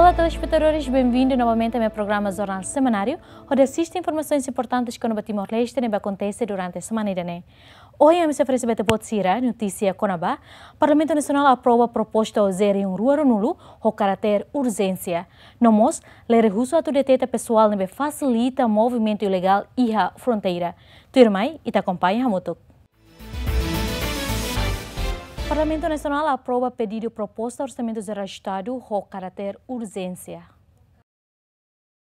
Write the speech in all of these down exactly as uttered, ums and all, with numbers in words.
Olá, telespetadores, benvindu novamente ao meu programa Jornál Semanáriu, hodi asiste informasoens importantes kona-ba Timor-Leste ne'ebé akontese durante semana ida-ne'e. Ohin ami sei oferese ba ita-boot sira notísia kona-ba Parlamentu Nasionál aprova proposta OJE rihun rua ruanulu ho karáter urjénsia. No mós, lei rehusu atu deteta pesoál ne'ebé fasilita movimentu ilegál iha fronteira. Tuirmai, ita akompaña hamutuk. Parlamentu Nasionál aprova pedidu proposta Orsamentu Jerál Estadu ho karáter urjénsia.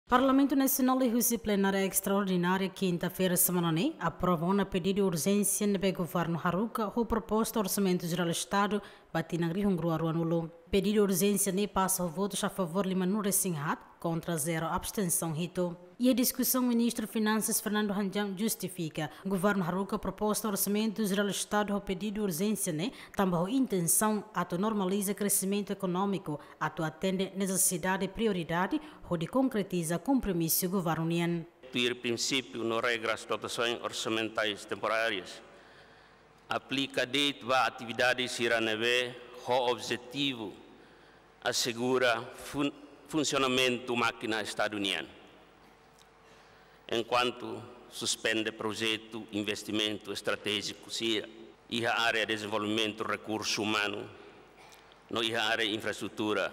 Parlamentu Nasionál liuhusi plenária estraordinária kinta-feira semana ne'e aprova ona pedidu urjénsia ne'ebé governu haruka ho proposta Orsamentu Jerál Estadu ba tinan rihun rua ruanulu. Pedidu urjénsia ne'e pasa ho votus a favór limanulu-resin-haat, kontra zero, abstensaun hitu. Iha diskusaun, Ministru Finansas Fernando Hanjam justifika governu haruka proposta Orsamentu Jerál Estadu ho pedidu urjénsia ne'e tanba ho intensaun atu normaliza kreximentu ekonómiku, atu atende nesesidade prioridade hodi konkretiza kompromisu governu nian. Tuir prinsípiu no regras dotações orçamentais temporárias, aplika de'it ba atividade sira ne'ebé ho objetivu asegura fun-, funsionamentu mákina Estadu nian. Enkuantu suspende projetu investimentu estratéjiku sira iha área dezenvolvimentu rekursu umanu no iha área infraestrutura,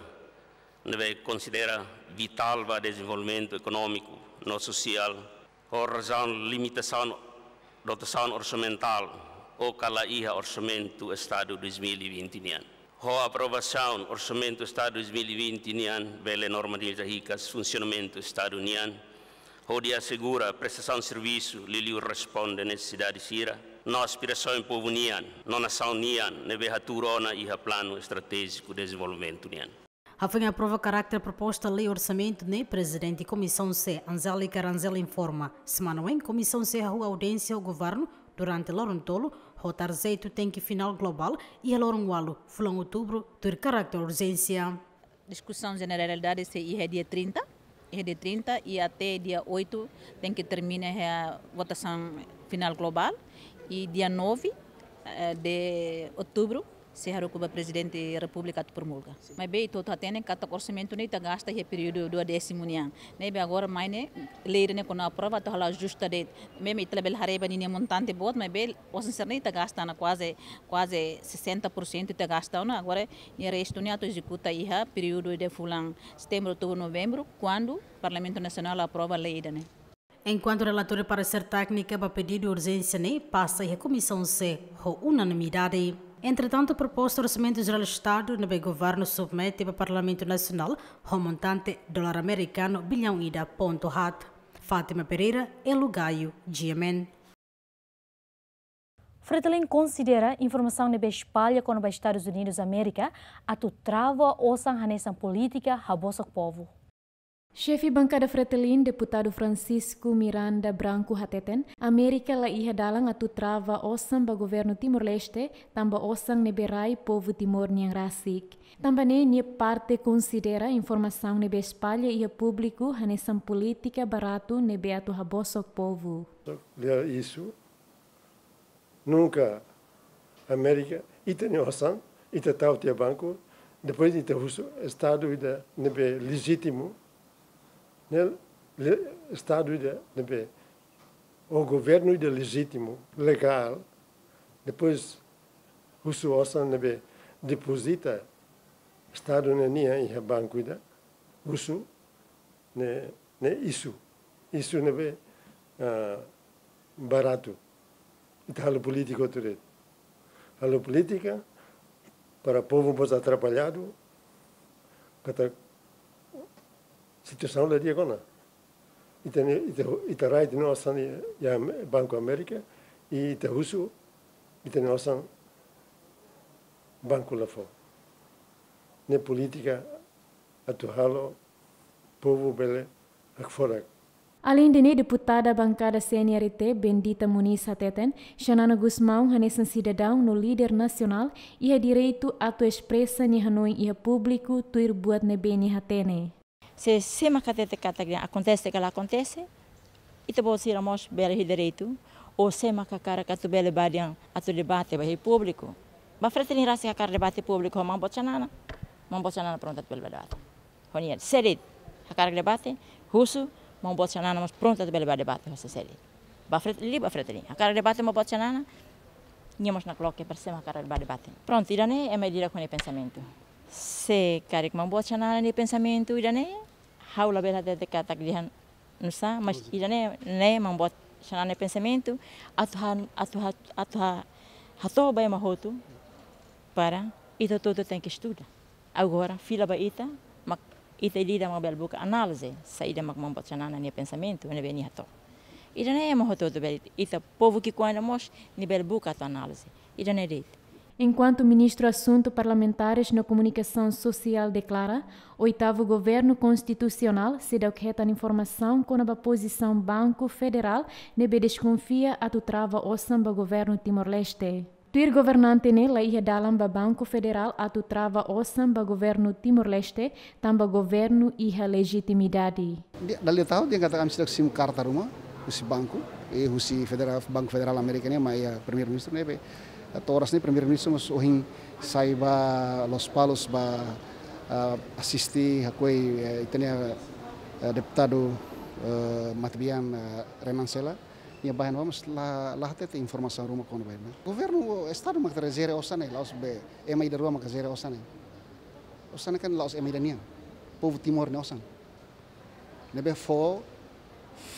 ne'ebé konsidera vitál ba dezenvolvimentu ekonómiku no sosiál, ho razaun limitasaun dotasaun orsamentál, ou ka la iha Orsamentu Estadu dois mil e vinte nian. Ho aprovasaun Orsamentu Estadu dois mil e vinte nian, bele normaliza hikas funsionamentu Estadu nian, hodi asegura prestasaun servisu liuliu responde nesesidade sira no aspirasaun povu nian no nasaun nian ne'ebé hatuur ona iha Planu Estratéjiku Dezenvolvimentu nian. Hafoin aprova karáter proposta lei orsamentu ne'e, Prezidente Komisaun C, Angélica Rangel, informa, semana oin Komisaun C hahú audiénsia ho governu durante loron tolu, ho tarjetu tenke finál globál iha loron ualu fulan Outubru, tuir karáter urjénsia. Diskusaun jeneralidade sei iha dia trinta, iha dia trinta i até dia oito tenke termina iha votasaun finál globál, i dia nove, eh, de Outubru sei haruka ba Prezidente Repúblika atu promulga. Maibé ita hotu hatene katak orsamentu ne'e ita gasta iha períodu duodésimu nian. Ne'ebé agora mai ne'e lei ne'e kuandu aprova atu halo ajusta de'it. Maibé ita labele haree ba ninia montante boot, maibé osan sira-ne'e ita gasta ona kuaze, kuaze sessenta por cento ita gasta ona. Agora nia restu ne'e atu ezekuta iha períodu de fulan Setembru, Outubru, Novembru, kuandu Parlamentu Nasionál aprova lei ida-ne'e. Enkuantu relatóriu paresér téknika ba pedidu urjénsia ne'e pasa iha Komisaun C ho unanimidade. Entretantu, proposta Orsamentu Jerál Estadu ne'ebé governu submete ba Parlamentu Nasionál ho montante dolar amerikanu billaun ida pontu haat. Fátima Pereira, Elo Gaio, G M N. Fretilin konsidera informasaun ne'ebé espalla kona-ba Estadus Unidus Amérika atu trava osan hanesan polítika habosok povu. Xefe bankada Fretilin, Deputadu Francisco Miranda Branco, hateten, Amérika la iha dalan atu trava osan ba governu Timor-Leste, tanba osan ne'ebé rai povu Timor nian rasik. Tanba ne'e nia parte konsidera informasaun ne'ebé espalla iha públiku hanesan polítika baratu ne'ebé atu habosok povu. Lia isu, nunka Amérika, ita-nia osan, ita tau tiha banku, depois ita husu Estadu ida ne'ebé lejítimu, ne'e le-, Estadu ida ne'ebé, ou governu ida lejítimu, legál, depois husu osan ne'ebé depozita Estadu ne'e nian iha banku ida, husu, ne'e, ne'e isu, isu ne'ebé, ah, baratu. Ita halo polítika hotu de'it. Halo polítika para povu mós atrapalladu, katak situasaun la di'ak ona. Ita-nia, ita, ita rai ita-nia osan iha Banku Amérika, i ita husu ita-nia osan banku la fó. Ne'e polítika atu halo povu bele hakfodak. Aleinde ne'e, deputada bankada C N R T, Bendita Muniz, hateten, Xanana Gusmão hanesan sidadaun no líder nasionál iha direitu atu espresa nia hanoin iha públiku tuir buat ne'ebé nia hatene. Se, sé mak hatete katak akontese ka la akontese, ita-boot sira mós bele iha direitu, ou sé mak hakarak atu bele bá dehan atu debate ba iha públiku. Ba Fretilin rasik hakarak debate públiku ho maun boot Xanana, maun boot Xanana prontu atu bele bá debate. Ho nia, sé de'it hakarak debate, husu, maun boot Xanana mós prontu atu bele bá debate ho sé de'it. Ba Fretilin, ba Fretilin. Hakarak debate maun boot Xanana, nia mós nakloke persema hakarak bá debate. Prontu, ida-ne'e ema ida-idak ho nia pensamentu. Se karik maun boot Xanana nia pensamentu ida-ne'e, ha'u labele hatete katak dehan nusá, mas ida-ne'e, ne'e maun boot Xanana nia pensamentu, atu ha, atu ha, atu ha, hato'o ba ema hotu, para ita hotu-hotu tenke estuda. Agora, fila ba ita, mak ita ida-idak mak bele buka análize, saida mak maun boot Xanana nia pensamentu, ne'ebé nia hato'o. Ida-ne'e ema hotu-hotu bele, ita povu ki'ikoan ida mós, nia bele buka atu análize. Ida-ne'e de'it. Enkuantu Ministru Asuntu Parlamentares no Komunikasaun Sosiál deklara, oitavu Governu Konstitusionál seidauk hetan informasaun kona-ba pozisaun Banku Federál ne'ebé deskonfia atu trava osan ba Governu Timor-Leste. Tuir governante ne'e, la iha dalan ba Banku Federál atu trava osan ba Governu Timor-Leste, tanba governu iha lejitimidade. Dia, dala ida tahun, dehan katak ami seidauk simu karta ruma husi banku, i husi federal, Banku Federál Amérika ne'e mai iha Primeiru-Ministru ne'ebé, to'o oras ne'e Primeiru-Ministru mós ohin sai ba Lospalos ba, ah, asiste, hakoi, eh, ita-nia, eh, deputadu, eh, matebian, eh, Renan Sela. Nia ba iha ne'ebá mós la, la hatete informasaun ruma kona-ba ne'e. Governu, Estadu mak atu jere osan ne'e, la'ós be ema ida rua mak jere osan ne'e. Osan ne'e kan la'ós ema ida nian. Povu Timor nia osan. Ne'ebé fó,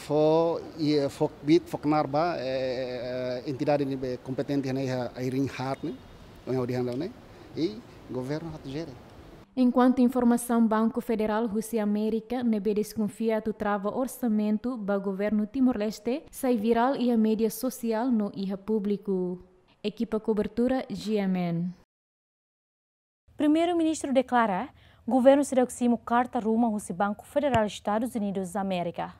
fó, i, fó kbiit, fó knaar ba, eh, entidade ne'ebé kompetente ne'e iha ai-riin haat ne'e, ohin ha'u dehan daudaun ne'e, i governu atu jere. Enkuantu informasaun Banku Federál husi Amérika ne'ebé deskonfia atu trava orsamentu ba Governu Timor-Leste sai virál iha média sosiál no iha públiku. Ekipa kobertura G M N. Primeiru-Ministru deklara, governu seidauk simu karta ruma husi Banku Federál Estadus Unidus Amérika.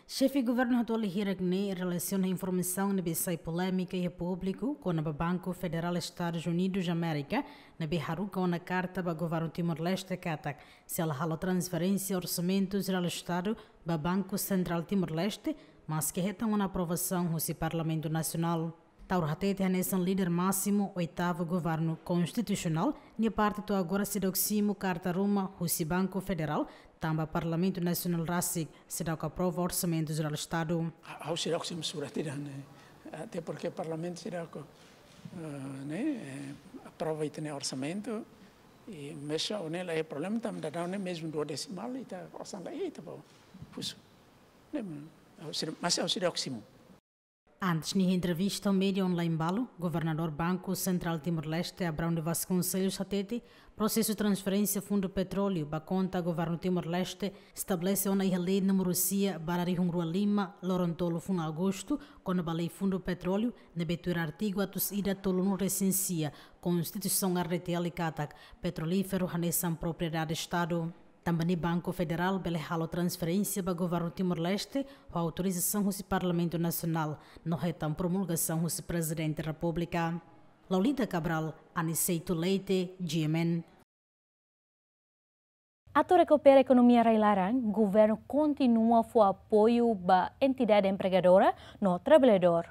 Xefe governu atuál hirak ne'e relasiona informasaun ne'ebé sai polémika iha públiku kona-ba Banku Federál Estadus Unidus Amérika, ne'ebé haruka ona karta ba governu Timor-Leste katak, sei la halo transferénsia orsamentu jerál Estadu ba Banku Sentrál Timor-Leste, maske hetan ona aprovasaun husi Parlamentu Nasionál. Taur hatete hanesan líder másimu oitavu Governu Konstitusionál, nia parte to'o agora seidauk simu karta ruma husi Banku Federál, tanba Parlamentu Nasionál rasik seidauk aprova orsamentu jerál Estadu. Ha'u seidauk simu surat ida-ne'e, até porque Parlamentu seidauk, eh, ne'e, eh, aprova ita-nia orsamentu, i mezmu ne'e la iha problema, tanba daudaun ne'e mezmu dua desimál, ita osan la iha, ita bá husu. Ne'e, ha'u seidauk, mas ha'u seidauk simu. Antes nia entrevista ho média online balu, Governadór Banku Sentrál Timor-Leste, Abrão de Vasconcelos, hatete, prosesu transferénsia fundu petróleu ba konta Governu Timor-Leste estabelese ona iha Lei númeru sia barra rihun rua lima, loron tolu fulan Agostu, kona-ba Lei Fundu Petróleu, ne'ebé tuir artigu atus ida tolunulu resin sia Konstituisaun R D T L katak, petrolíferu hanesan propriedade Estadu. Tanba ne'e Banku Federál bele halo transferénsia ba Governu Timor-Leste, ho autorizasaun husi Parlamentu Nasionál, no hetan promulgasaun husi Prezidente Repúblika. Laulita Cabral, Aniceto Leite, G M N. Atu rekupera ekonomia rai-laran, governu kontinua fó apoiu ba entidade empregadora no traballadór.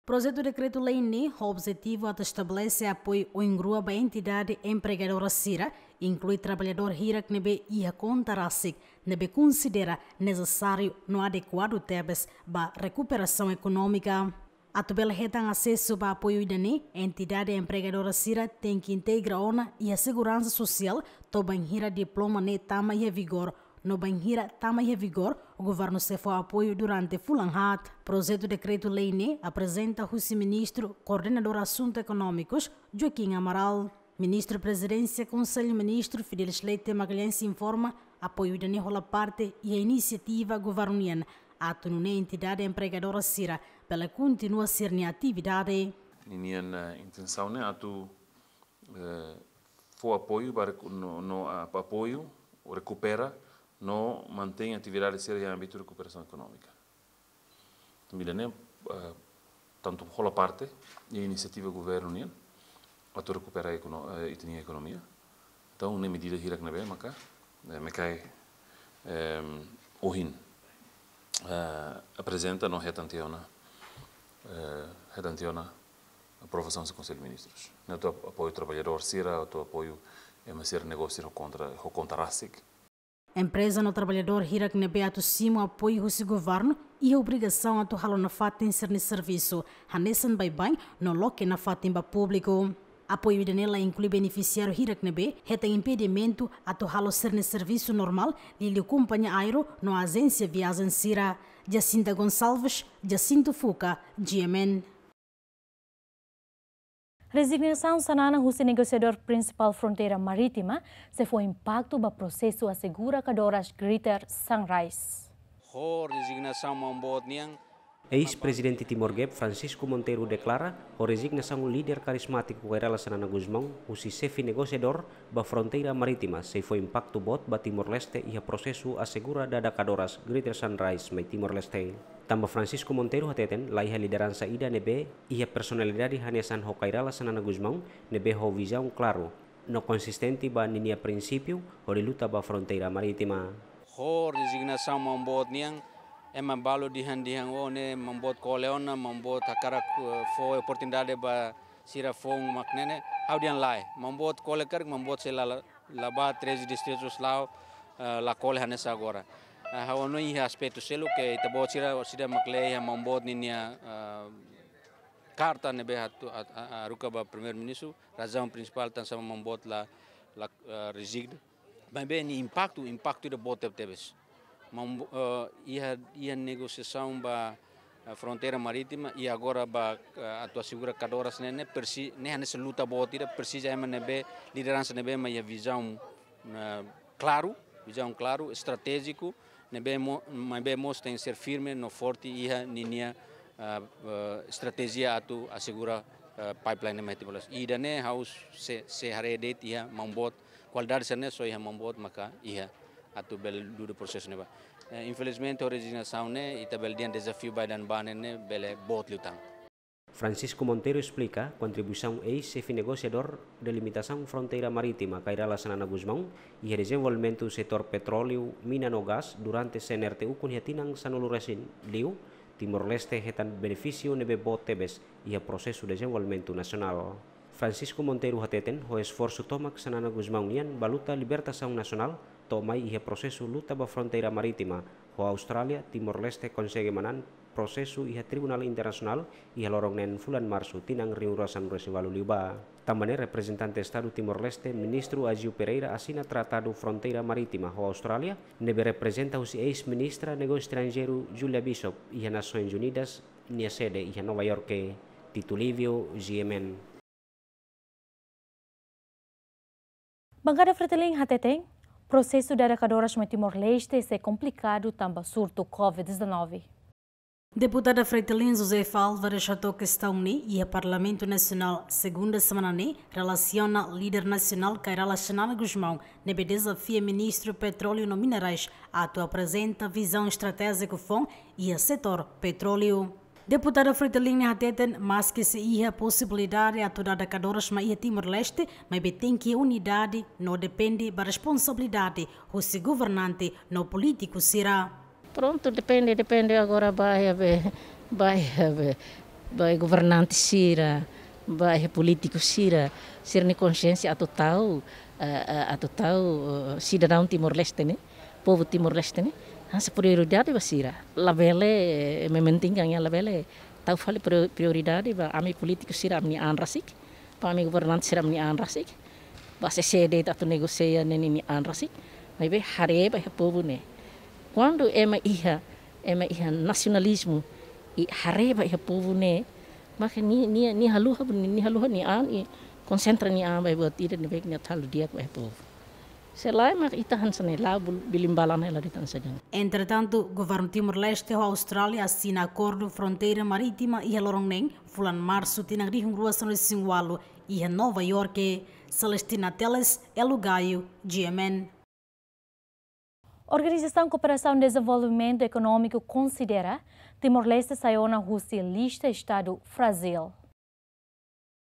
Projetu dekretu-lei ne'e ho objetivu atu estabelese apoiu oin-rua ba entidade empregadora sira, inklui traballadór hirak ne'ebé iha konta rasik, ne'ebé konsidera nesesáriu no adekuadu tebes ba rekuperasaun ekonómika. Atu bele hetan asesu ba apoiu ida-ne'e, entidade empregadora sira tenke integra ona iha seguransa sosiál, to'o bainhira diploma ne'e tama iha vigór, no bainhira tama iha vigór, governu sei fó apoiu durante fulan haat. Projetu dekretu-lei ne'e aprezenta husi Ministru Koordenadór Asuntu Ekonómikus, Joaquim Amaral. Ministru Prezidénsia Konsellu Ministru Fidelis Leite Magalhães informa, apoiu ida-ne'e hola parte iha inisiativa governu nian, atu nune'e entidade empregadora sira bele kontinua sira-nia atividade. Ninian, eh, intensaun ne'e atu, eh, fó apoiu ba reku-, no, no, ah, apoiu, rekupera, no mantein atividade sira iha ámbitu rekuperasaun ekonómika. Tanba ida-ne'e, eh, tantu hola parte iha inisiativa governu nian atu rekupera ekono-, eh, ita-nia ekonomia. Entaun, ne'e medida hirak ne'ebé maka, eh, MCAE, ehm, ohin, eh, aprezenta no hetan tiha ona, eh, hetan tiha ona aprovasaun husi Konsellu Ministrus. Ne'e atu ap-, apoiu traballadór sira, atu apoiu Ema sira negósiu ho kontra, ho kontra rasik. Empreza no traballadór hirak ne'ebé atu simu apoiu husi governu iha obrigasaun atu halo nafatin sira-nia servisu, hanesan baibain no loke nafatin ba públiku. Apoiu ida-ne'e la inklui benefisiáriu hirak ne'ebé hetan impedimentu atu halo sira-nia servisu normál, liuliu kompañia aéreu no ajénsia viajen sira. Jacinta Gonçalves, Jacinto Fuca, G M N. Rezignasaun Xanana husi negosiadór prinsipál fronteira marítima sei fó impaktu ba prosesu asegura kadoras Greater Sunrise. Ho rezignasaun maun boot nian. Eis-prezidente Timor Gap, Francisco Monteiro, deklara, ho rezignasaun líder karizmátiku Kay Rala Xanana Gusmão husi xefe negosiadór ba fronteira marítima, sei fó impaktu boot ba Timor-Leste iha prosesu asegura dada kadoras Greater Sunrise mai Timor-Leste. Tanba Francisco Monteiro hateten, laiha lideransa ida ne'ebé iha personalidade hanesan ho Kay Rala Xanana Gusmão, ne'ebé ho vizaun klaru no konsistente ba ninia prinsípiu hodi luta ba fronteira marítima. Ho rezignasaun maun boot nian, ema balu dehan-dehan, oh, ne'e maun boot kole ona, maun boot hakarak, eh, fó oportunidade ba sira foun mak ne'e ne'e. Ha'u dehan lae, maun boot kole karik, maun boot sei la, la, la ba treze distritus la'o, eh, la kole hanesan agora. Eh, ha'u hanoin iha aspetu seluk ke ita-boot sira, sira mak lee iha maun boot ninia, eh, karta ne'ebé atu, at-, a-, a-, haruka ba Primeiru-Ministru, razaun prinsipál tansá maun boot la, la, eh, rezigna. Maibé nia impaktu, impaktu ida boot tebetebes. Maun bo-, eh, iha, iha negosiasaun ba, eh, fronteira marítima, i agora ba, eh, atu asegura kadoras ne'e, ne'e presi-, ne'e hanesan luta boot ida, presiza ema ne'ebé, lideransa ne'ebé mak iha vizaun, eh, klaru, vizaun klaru, estratéjiku, ne'ebé mo-, maibé mós tenke ser firme no forte iha ninia, ah, ah, estratéjia atu asegura, ah, pipeline ne'e mai Timor-Leste. Ida-ne'e ha'u sei, sei haree de'it iha maun boot, kualidade sira-ne'e só iha maun boot maka iha atu bele dudu prosesu ne'ebá. Eh, infelizmente, ho rezignasaun ne'e, ita bele dehan dezafiu ba ida-ne'ebá ne'e, ne'e bele boot liután. Francisco Monteiro esplika kontribuisaun eis-xefe negosiadór delimitasaun fronteira marítima Kay Rala Xanana Gusmão iha dezenvolvimentu setór petróleu, mina no gás durante C N R T ukun iha tinan sanulu-resin-liu, Timor-Leste hetan benefísiu ne'ebé boot tebes iha prosesu dezenvolvimentu nasionál. Francisco Monteiro hateten, ho esforsu tomak Xanana Gusmão nian ba luta libertasaun nasionál, to'o mai iha prosesu luta ba fronteira marítima ho Austrália, Timor-Leste konsege manán prosesu iha Tribunál Internasionál iha loron neen fulan Marsu tinan rihun rua sanulu-resin-ualu liubá. Tanba ne'e reprezentante Estadu Timor-Leste, Ministru Aziu Pereira asina tratadu fronteira marítima ho Austrália, ne'ebé reprezenta husi eis-ministra Negósiu Estranjeiru Julia Bishop iha Nasoins Unidas nia sede iha Nova Iorke. Tito Livio, G M N. Bankada Fretilin hateten, prosesu dada kadoras mai Timor-Leste sei komplikadu tanba surtu covid dezanove. Deputada Fretilin Josefa Álvares hato'o kestaun ne'e iha Parlamentu Nasionál, segunda semana ne'e, relasiona líder nasionál Kay Rala Xanana Gusmão ne'ebé dezafia Ministru Petróleu no Minerais atu aprezenta vizaun estratéjiku foun iha setór petróleu. Deputada Fretilin ne'e hateten, maski sei iha posibilidade atu dada kadoras mai iha Timor-Leste, maibé tenke unidade no depende ba responsabilidade husi governante no polítiku sira. Prontu, depende, depende agora ba iha be, ba iha be, ba iha governante sira, ba iha polítiku sira, sira-nia konsiénsia atu tau, eh, eh, atu tau, eh, sidadaun Timor-Leste ne'e, povu Timor-Leste ne'e, hanesan prioridade ba sira. Labele, eh, mementingkan iha, labele tau fali prior-, prioridade ba ami polítiku sira ami-nia an rasik, ba ami governante sira ami-nia an rasik, ba sesede atu negosia ne'e ninia an rasik, maibé haree ba iha povu ne'e. Kuandu ema iha, ema iha nasionalizmu, i haree ba iha povu ne'e, maka nia, nia, nia haluha, nia haluha nia an, i konsentra nia an ba buat ida ne'ebé nia atu halo di'ak ba iha povu. Se lae mak ita hanesan ne'e la'o bul-, bilimbalan hela de'it hanesan ne'e. Entretantu, Governu Timor-Leste ho Austrália asina akordu fronteira marítima iha loron neen, fulan Marsu tinan rihun rua sanulu-resin-ualu, iha Nova Iorke. Celestina Teles, Elo Gaio, G M N. Organizasaun Kooperasaun Dezenvolvimentu Ekonómiku konsidera Timor-Leste sai ona husi lista estadu frájil.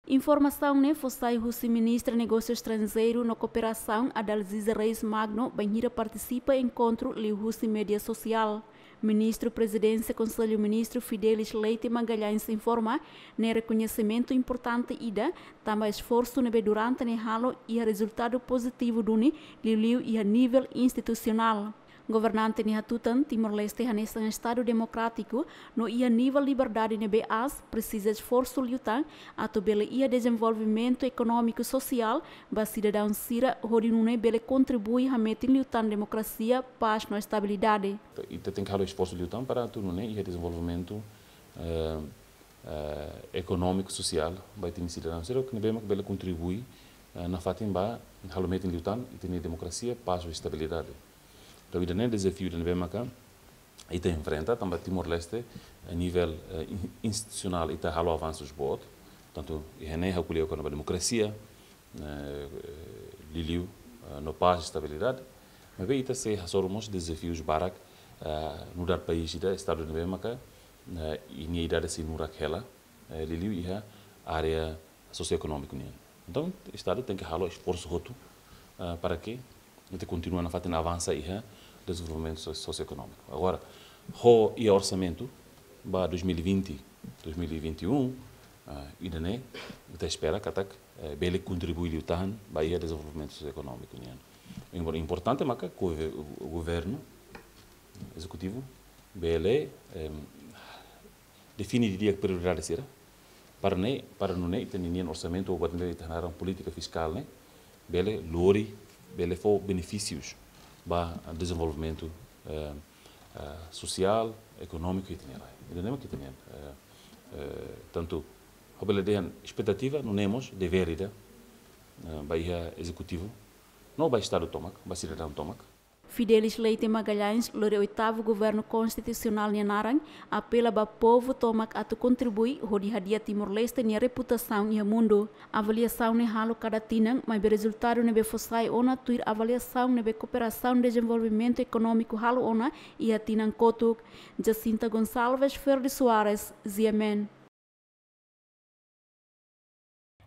Informasaun ne'e fó sai husi Ministra Negósiu Estranjeiru no Kooperasaun, Adalziza Reis Magno, bainhira partisipa enkontru liuhusi média sosiál. Ministru Prezidénsia Konsellu Ministru Fidelis Leite Magalhães informa ne'e rekoñesimentu importante ida, tanba esforsu ne'ebé durante ne'e halo iha rezultadu pozitivu duni, liuliu iha nivel institusionál. Governante ne'e hatutan Timor-Leste hanesan Estadu demokrátiku no iha nivel liberdade ne'ebé aas, presiza esforsu liután atu bele iha dezenvolvimentu ekonómiku sosiál ba sidadaun sira, hodi nune'e bele kontribui hametin liután demokrasia, pás no estabilidade. Ita tenke halo esforsu liután para atu nune'e iha dezenvolvimentu, eh, eh, ekonómiku, sosiál ba ita-nia sidadaun sira, ne'ebé mak bele kontribui, eh, nafatin ba halo metin liután ita-nia demokrasia, pás no estabilidade. Entaun, ida-ne'e dezafiu ida ne'ebé maka ita enfrenta, tanba Timor-Leste, eh, nivel, eh, in-, institusionál ita halo avansus boot, tantu iha ne'e ha'u ko'alia kona-ba demokrasia, eh, liuliu, eh, no pás, estabilidade, maibé ita sei hasoru mós dezafius barak, eh, nu'udar país ida, Estadu ne'ebé maka, eh, nia idade sei nurak hela, eh, liuliu iha área sosioekonómiku nian. Entaun, Estadu tenke halo esforsu hotu, ah, para ke ita kontinua nafatin avansa iha dezenvolvimentu so-, sosioekonómiku. Agora, ho iha orsamentu ba dois mil e vinte, dois mil e vinte e um, ah, ida-ne'e, ita espera katak, eh, bele kontribui liután ba iha dezenvolvimentu sosioekonómiku nian. Impor-, importante maka gover-, governu, ezekutivu, bele, em, define didi'ak prioridade sira, para ne'e, para nune'e ita-nia orsamentu, ou buat ne'ebé ita hanaran polítika fiskál ne'e, bele lori, bele fó benefísius ba dezenvolvimentu, eh, eh, sosiál, ekonómiku iha ita-nia rai. Ida-ne'e mak ita-nia, eh, eh, tantu, ha'u bele dehan espetativa, nune'e mós devér ida, eh, ba iha ezekutivu, no ba Estadu tomak, ba sidadaun tomak. Fidelis Leite Magalhães lori oitavu governu konstitusionál nia naran, apela ba povu tomak atu kontribui hodi hadi'a Timor-Leste nia reputasaun iha mundu. Avaliasaun ne'e halo kada tinan, maibé rezultadu ne'ebé fó sai ona tuir avaliasaun ne'ebé Kooperasaun Dezenvolvimentu Ekonómiku halo ona iha tinan kotuk. Jacinta Gonçalves, Ferdi Soares, G M N.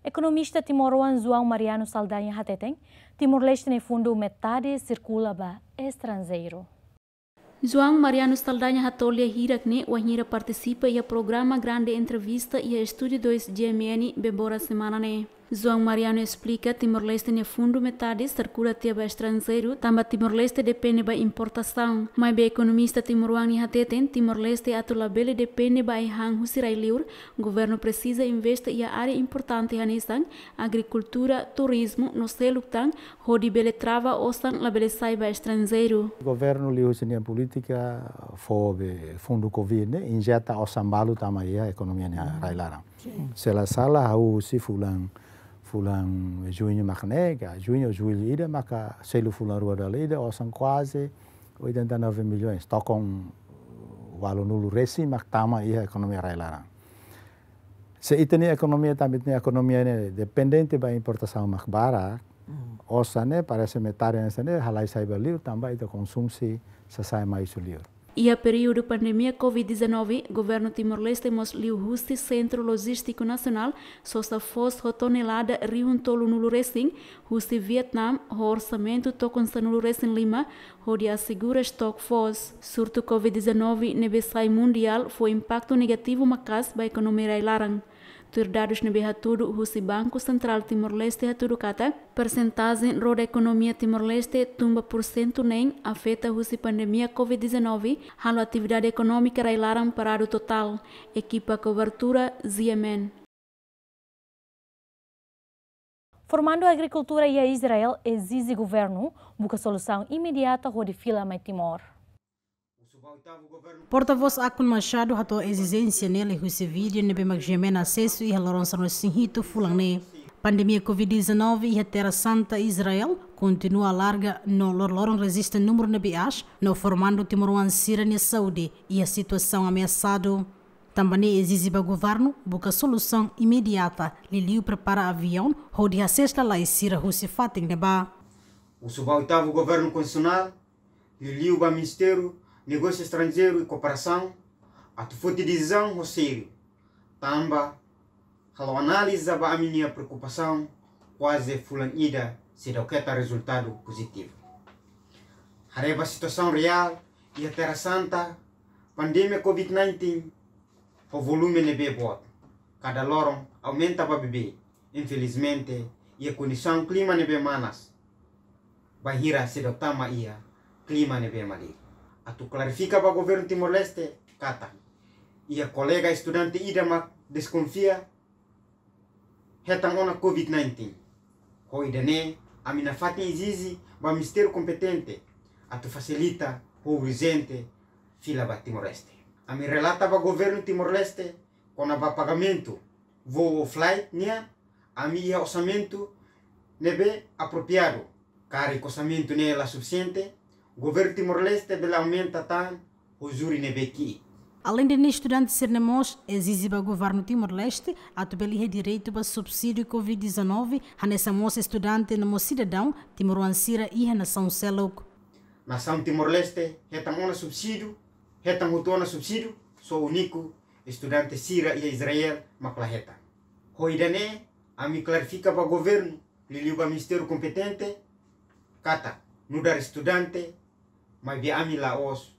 Ekonomista timoroan João Mariano Saldanha hateten, Timor-Leste nia fundu metade sirkula ba estranjeiru. João Mariano Saldanha hato'o lia hirak ne'e wainhira partisipa iha programa Grande Entrevista iha Estúdiu dois G M N Bebora semana ne'e. João Mariano esplika, Timor-Leste nia fundu metade sirkula tiha ba estranjeiru, tanba Timor-Leste depende ba importasaun. Maibé ekonomista timoroan ne'e hateten, Timor-Leste atu labele depende ba ai-han husi rai-liur, governu presiza investe iha área importante hanesan agrikultura, turizmu no seluk tan, hodi bele trava osan labele sai ba estranjeiru. Governu liuhusi nia polítika fó be fundu covid ne'e injeta osan balu tama iha ekonomia nia rai-laran. Se la sala, hahú husi fulan, fulan juñu mak ne'e, ka juñu, jullu ida, maka selu fulan rua dala ida, osan kuaze oitenta e nove milhões, tokon ualunulu resin mak tama iha ekonomia rai-laran. Se ita-nia ekonomia, tanba ita-nia ekonomia ne'e dependente ba importasaun mak barak, osan ne'e parese metade hanesan ne'e halai sai ba liur, tanba ita konsumsi sasán mai husi liur. Iha períodu pandemia covid dezanove, governu Timor-Leste mós liuhusi Sentru Lojístiku Nasionál sosa foos ho tonelada rihun tolunulu resin husi Vietnam, ho orsamentu tokon sanulu resin lima, hodi asegura estok foos. Surtu covid dezanove ne'ebé sai mundiál fó impaktu negativu maka'as ba ekonomia rai-laran. Tuir dadus ne'ebé hatudu husi Banku Sentrál Timor-Leste hatudu katak, persentajen roda ekonomia Timor-Leste tun ba pursentu neen afeta husi pandemia covid dezanove, halo atividade ekonómika rai-laran paradu totál. Ekipa kobertura, G M N. Formandu Agrikultura iha Israel ezije governu buka solusaun imediata hodi fila mai Timor. Portavós Akun Machado hato'o ezijénsia ne'e liuhusi vídeo ne'ebé mak G M N asesu iha loron sanulu-resin-hitu fulan ne'e. Pandemia covid dezanove iha Terra Santa, Israel, kontinua alarga no loroloron rejista númeru ne'ebé aas, no formandu timoroan sira-nia saúde iha situasaun ameasadu. Tanba ne'e ezije ba governu buka solusaun imediata, liuliu prepara aviaun hodi hasees lalais sira husi fatin ne'ebá. Husu ba oitavu governu konstitusionál, liuliu ba Ministériu Negósiu Estranjeiru i Kooperasaun, atu foti desizaun ho sériu, tanba halo analiza ba ami-nia preokupasaun, kuaze fulan ida seidauk hetan rezultadu pozitivu. Haree ba situasaun reál iha Terra Santa, Pandemia covid nineteen ho volume ne'ebé boot, kada loron aumenta ba beibeik. Infelizmente, iha kondisaun klima ne'ebé manas, bainhira seidauk tama iha klima ne'ebé malirin. Atu klarifika ba governu Timor-Leste katak iha kolega estudante ida mak deskonfia hetan ona covid nineteen. Ho ida-ne'e, ami nafatin ezije ba ministériu kompetente atu fasilita ho urjente fila ba Timor-Leste. Ami relata ba governu Timor-Leste kona-ba pagamentu voo ou flight nian, ami iha orsamentu ne'ebé apropriadu. Karik orsamentu ne'e la sufisiente, governu Timor-Leste bele aumenta tan ho juri ne'ebé ki'ik. Aleinde ne'e, estudante sira-ne'e mós ezije ba governu Timor-Leste atu bele iha direitu ba subsídiu covid dezanove, hanesan mós estudante no mós sidadaun timoroan sira iha nasaun seluk. Nasaun Timor-Leste hetan ona subsídiu, hetan hotu ona subsídiu, só úniku estudante sira iha Israel mak la hetan. Ho ida-ne'e, ami klarifika ba governu, liuliu ba ministériu kompetente, katak nu'udar estudante, maibé ami la'ós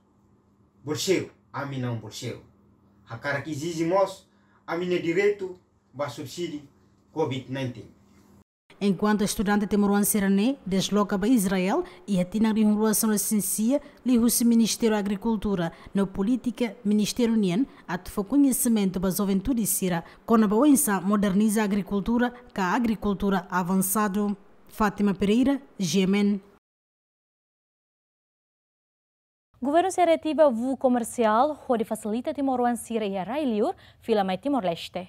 bolseiru, ami naun bolseiru. Hakarak ezije mós ami-nia direitu ba subsídiu covid nineteen. Enkuantu estudante timoroan sira-ne'e desloka ba Israel iha tinan rihun rua sanulu-resin-sia, liuhusi Ministériu Agrikultura no polítika ministériu nian atu fó koñesimentu ba juventude sira kona-ba oinsá moderniza agrikultura ka agrikultura avansadu. Fátima Pereira, G M N. Governu sei reativa voo komersiál hodi fasilita timoroan sira iha rai-liur fila mai Timor-Leste.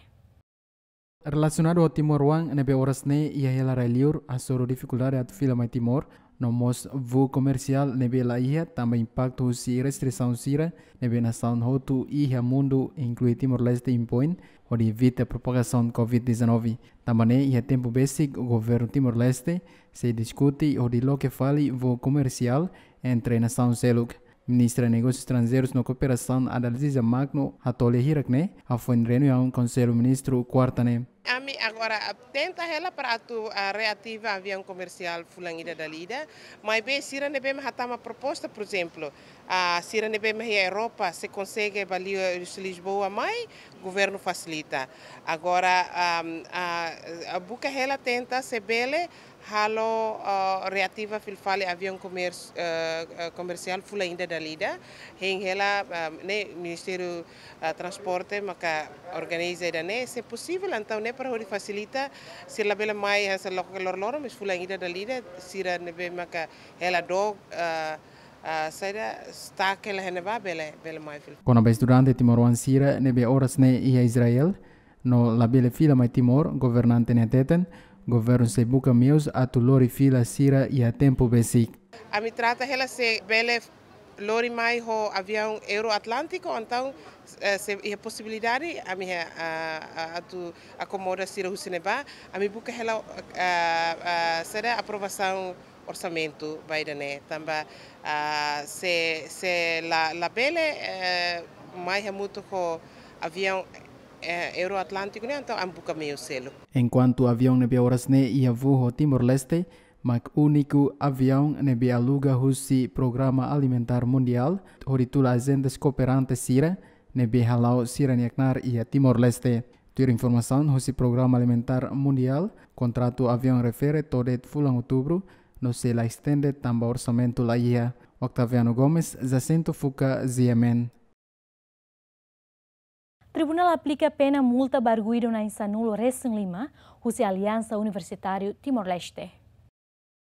Relasionadu ho timoroan ne'ebé oras ne'e iha hela rai-liur hasoru difikuldade atu fila mai Timor, no mós voo komersiál ne'ebé la iha tanba impaktu husi restrisaun sira ne'ebé nasaun hotu iha mundu, inklui Timor-Leste, impoin hodi evita propagasaun covid dezanove. Tanba ne'e, iha tempu besik governu Timor-Leste sei diskute hodi loke fali voo komersiál entre nasaun seluk. Ministra Negósius Estranjeirus no Kooperasaun, Adalziza Magno, hato'o lia hirak ne'e hafoin reuniaun Konsellu Ministru kuarta ne'e. Ami agora, ah, tenta hela para atu, ah, reativa aviaun komersiál fulan ida dala ida, maibé sira ne'ebé mak hatama proposta, por ezemplu, ah, sira ne'ebé mak iha Europa, se konsege ba liu, Lisboa mai, governu fasilita. Agora, ah, ah, ah, buka hela tenta se bele halo, ah, reativa fila fali aviaun komers-, ah, ah, komersiál fulan ida dala ida. Hein hela, ah, ne'e Ministériu, ah, Transporte maka organiza ida-ne'e, se posivel, entaun ne'e para hodi fasilita, sira labele mai hanesan loke loroloron, mas fulan ida dala ida, sira ne'ebé maka hela dook, ah, ah, saida, stuck hela iha ne'ebá bele, bele mai fila. Kona-ba estudante timoroan sira ne'ebé oras ne'e iha Israel no labele fila mai Timor, governante ne'e hateten, governu sei buka meius atu lori fila sira iha tempu besik. Ami trata hela se bele lori mai ho aviaun Euroatlántico, entaun, eh, se iha posibilidade, ami iha, ah, ah, atu akomoda sira husi ne'ebá, ami buka hela, ah, ah, saida, aprovasaun orsamentu ba ida-ne'e, tanba, ah, se, se la, labele, eh, mai hamutuk ho aviaun, eh, Euroatlántico nian, entaun ami buka meiu seluk. Enkuantu aviaun ne'ebé oras ne'e iha voo ho Timor-Leste, mak úniku aviaun ne'ebé aluga husi Programa Alimentár Mundiál, hodi tula ajente kooperante sira ne'ebé hala'o sira-nia knaar iha Timor-Leste. Tuir informasaun husi Programa Alimentár Mundiál, kontratu aviaun refere to'o de'it fulan Outubru, no sei la estende tanba orsamentu la iha. Octaviano Gomes, Jacinto Fuca, G M N. Tribunál aplika pena multa ba arguidu na'in sanulu-resin-lima husi Aliansa Universitáriu Timor-Leste.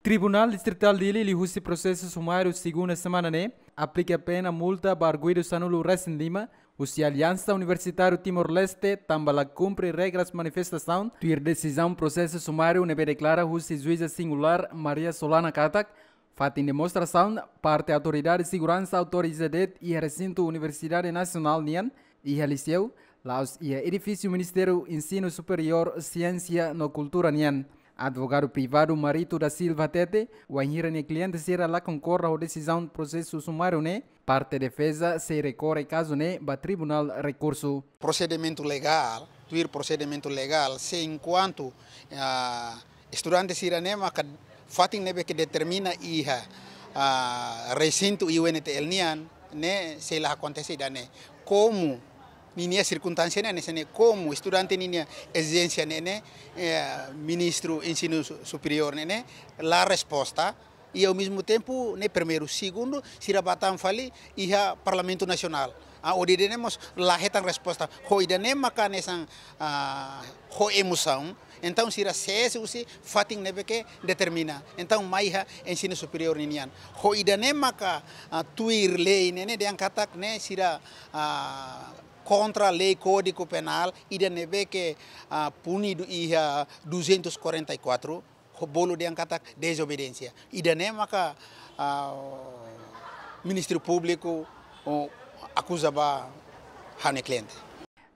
Tribunál Distritál Dili liuhusi prosesu sumáriu segunda semana ne'e aplika pena multa ba arguidu sanulu-resin-lima husi Aliansa Universitáriu Timor-Leste tanba la kumpre regras manifestasaun, tuir desizaun prosesu sumáriu ne'ebé deklara husi juíza singulár Maria Solana katak fatin demonstrasaun parte autoridade seguransa autoriza de'it iha resintu Universidade Nasionál nian, iha Liseu, la'ós iha edifísiu Ministériu Ensinu Superiór, Siénsia no Kultura nian. Advogadu privadu Marito da Silva hatete, wainhira nia kliente sira la konkorda ho desizaun prosesu sumáriu ne'e, parte defeza sei rekorre kazu ne'e ba Tribunál Rekursu. Prosedimentu legál, tuir prosedimentu legál, se enkuantu, ah, estudante sira-ne'e maka fatin ne'ebé ke determina iha, ah, resintu I U N T L nian, ne'e sei la akontese ida-ne'e. Komu ninia sirkunstánsia ne'e hanesan ne'e, komu estudante ninia ezijénsia ne'e ne'e, eh, Ministru Ensinu Su-, Superiór ne'e ne'e la resposta, i ao mesmo tempo ne'e primeiru, segundu, sira bá tan fali iha Parlamentu Nasionál. Ah, hodi ida-ne'e mós la hetan resposta. Ho ida-ne'e maka hanesan, ah, ho emosaun. Entaun sira sees husi fatin ne'ebé ke determina. Entaun mai iha Ensinu Superiór ninian. Ho ida-ne'e maka, ah, tuir lei ne'e ne'e dehan katak ne'e sira, ah, kontra lei Kódigu Penál, ida ne'ebé ke, ah, punidu iha duzentos e quarenta e quatro, ho bolu dehan katak dezobediénsia. Ida-ne'e maka, ah, Ministériu Públiku, oh, akuza ba ha'u-nia kliente.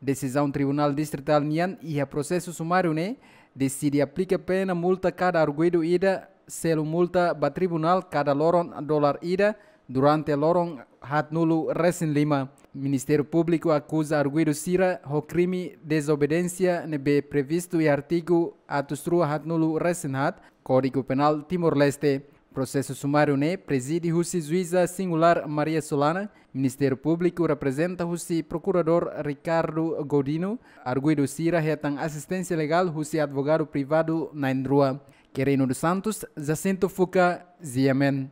Desizaun Tribunál Distritál nian iha prosesu sumáriu ne'e deside aplika pena multa kada arguidu ida, selu multa ba tribunál kada loron dolar ida durante loron haatnulu resin lima. Ministériu Públiku akuza arguidu sira ho krime dezobediénsia ne'ebé previstu iha artigu atus rua haatnulu resin haat Kódigu Penál Timor-Leste. Prosesu sumáriu ne'e prezide husi Juíza Singulár Maria Solana, Ministériu Públiku reprezenta husi Prokuradór Ricardo Godinho, arguidu sira hetan asisténsia legál husi advogadu privadu na'in-rua. Querino dos Santos, Jacinto Fuca, G M N.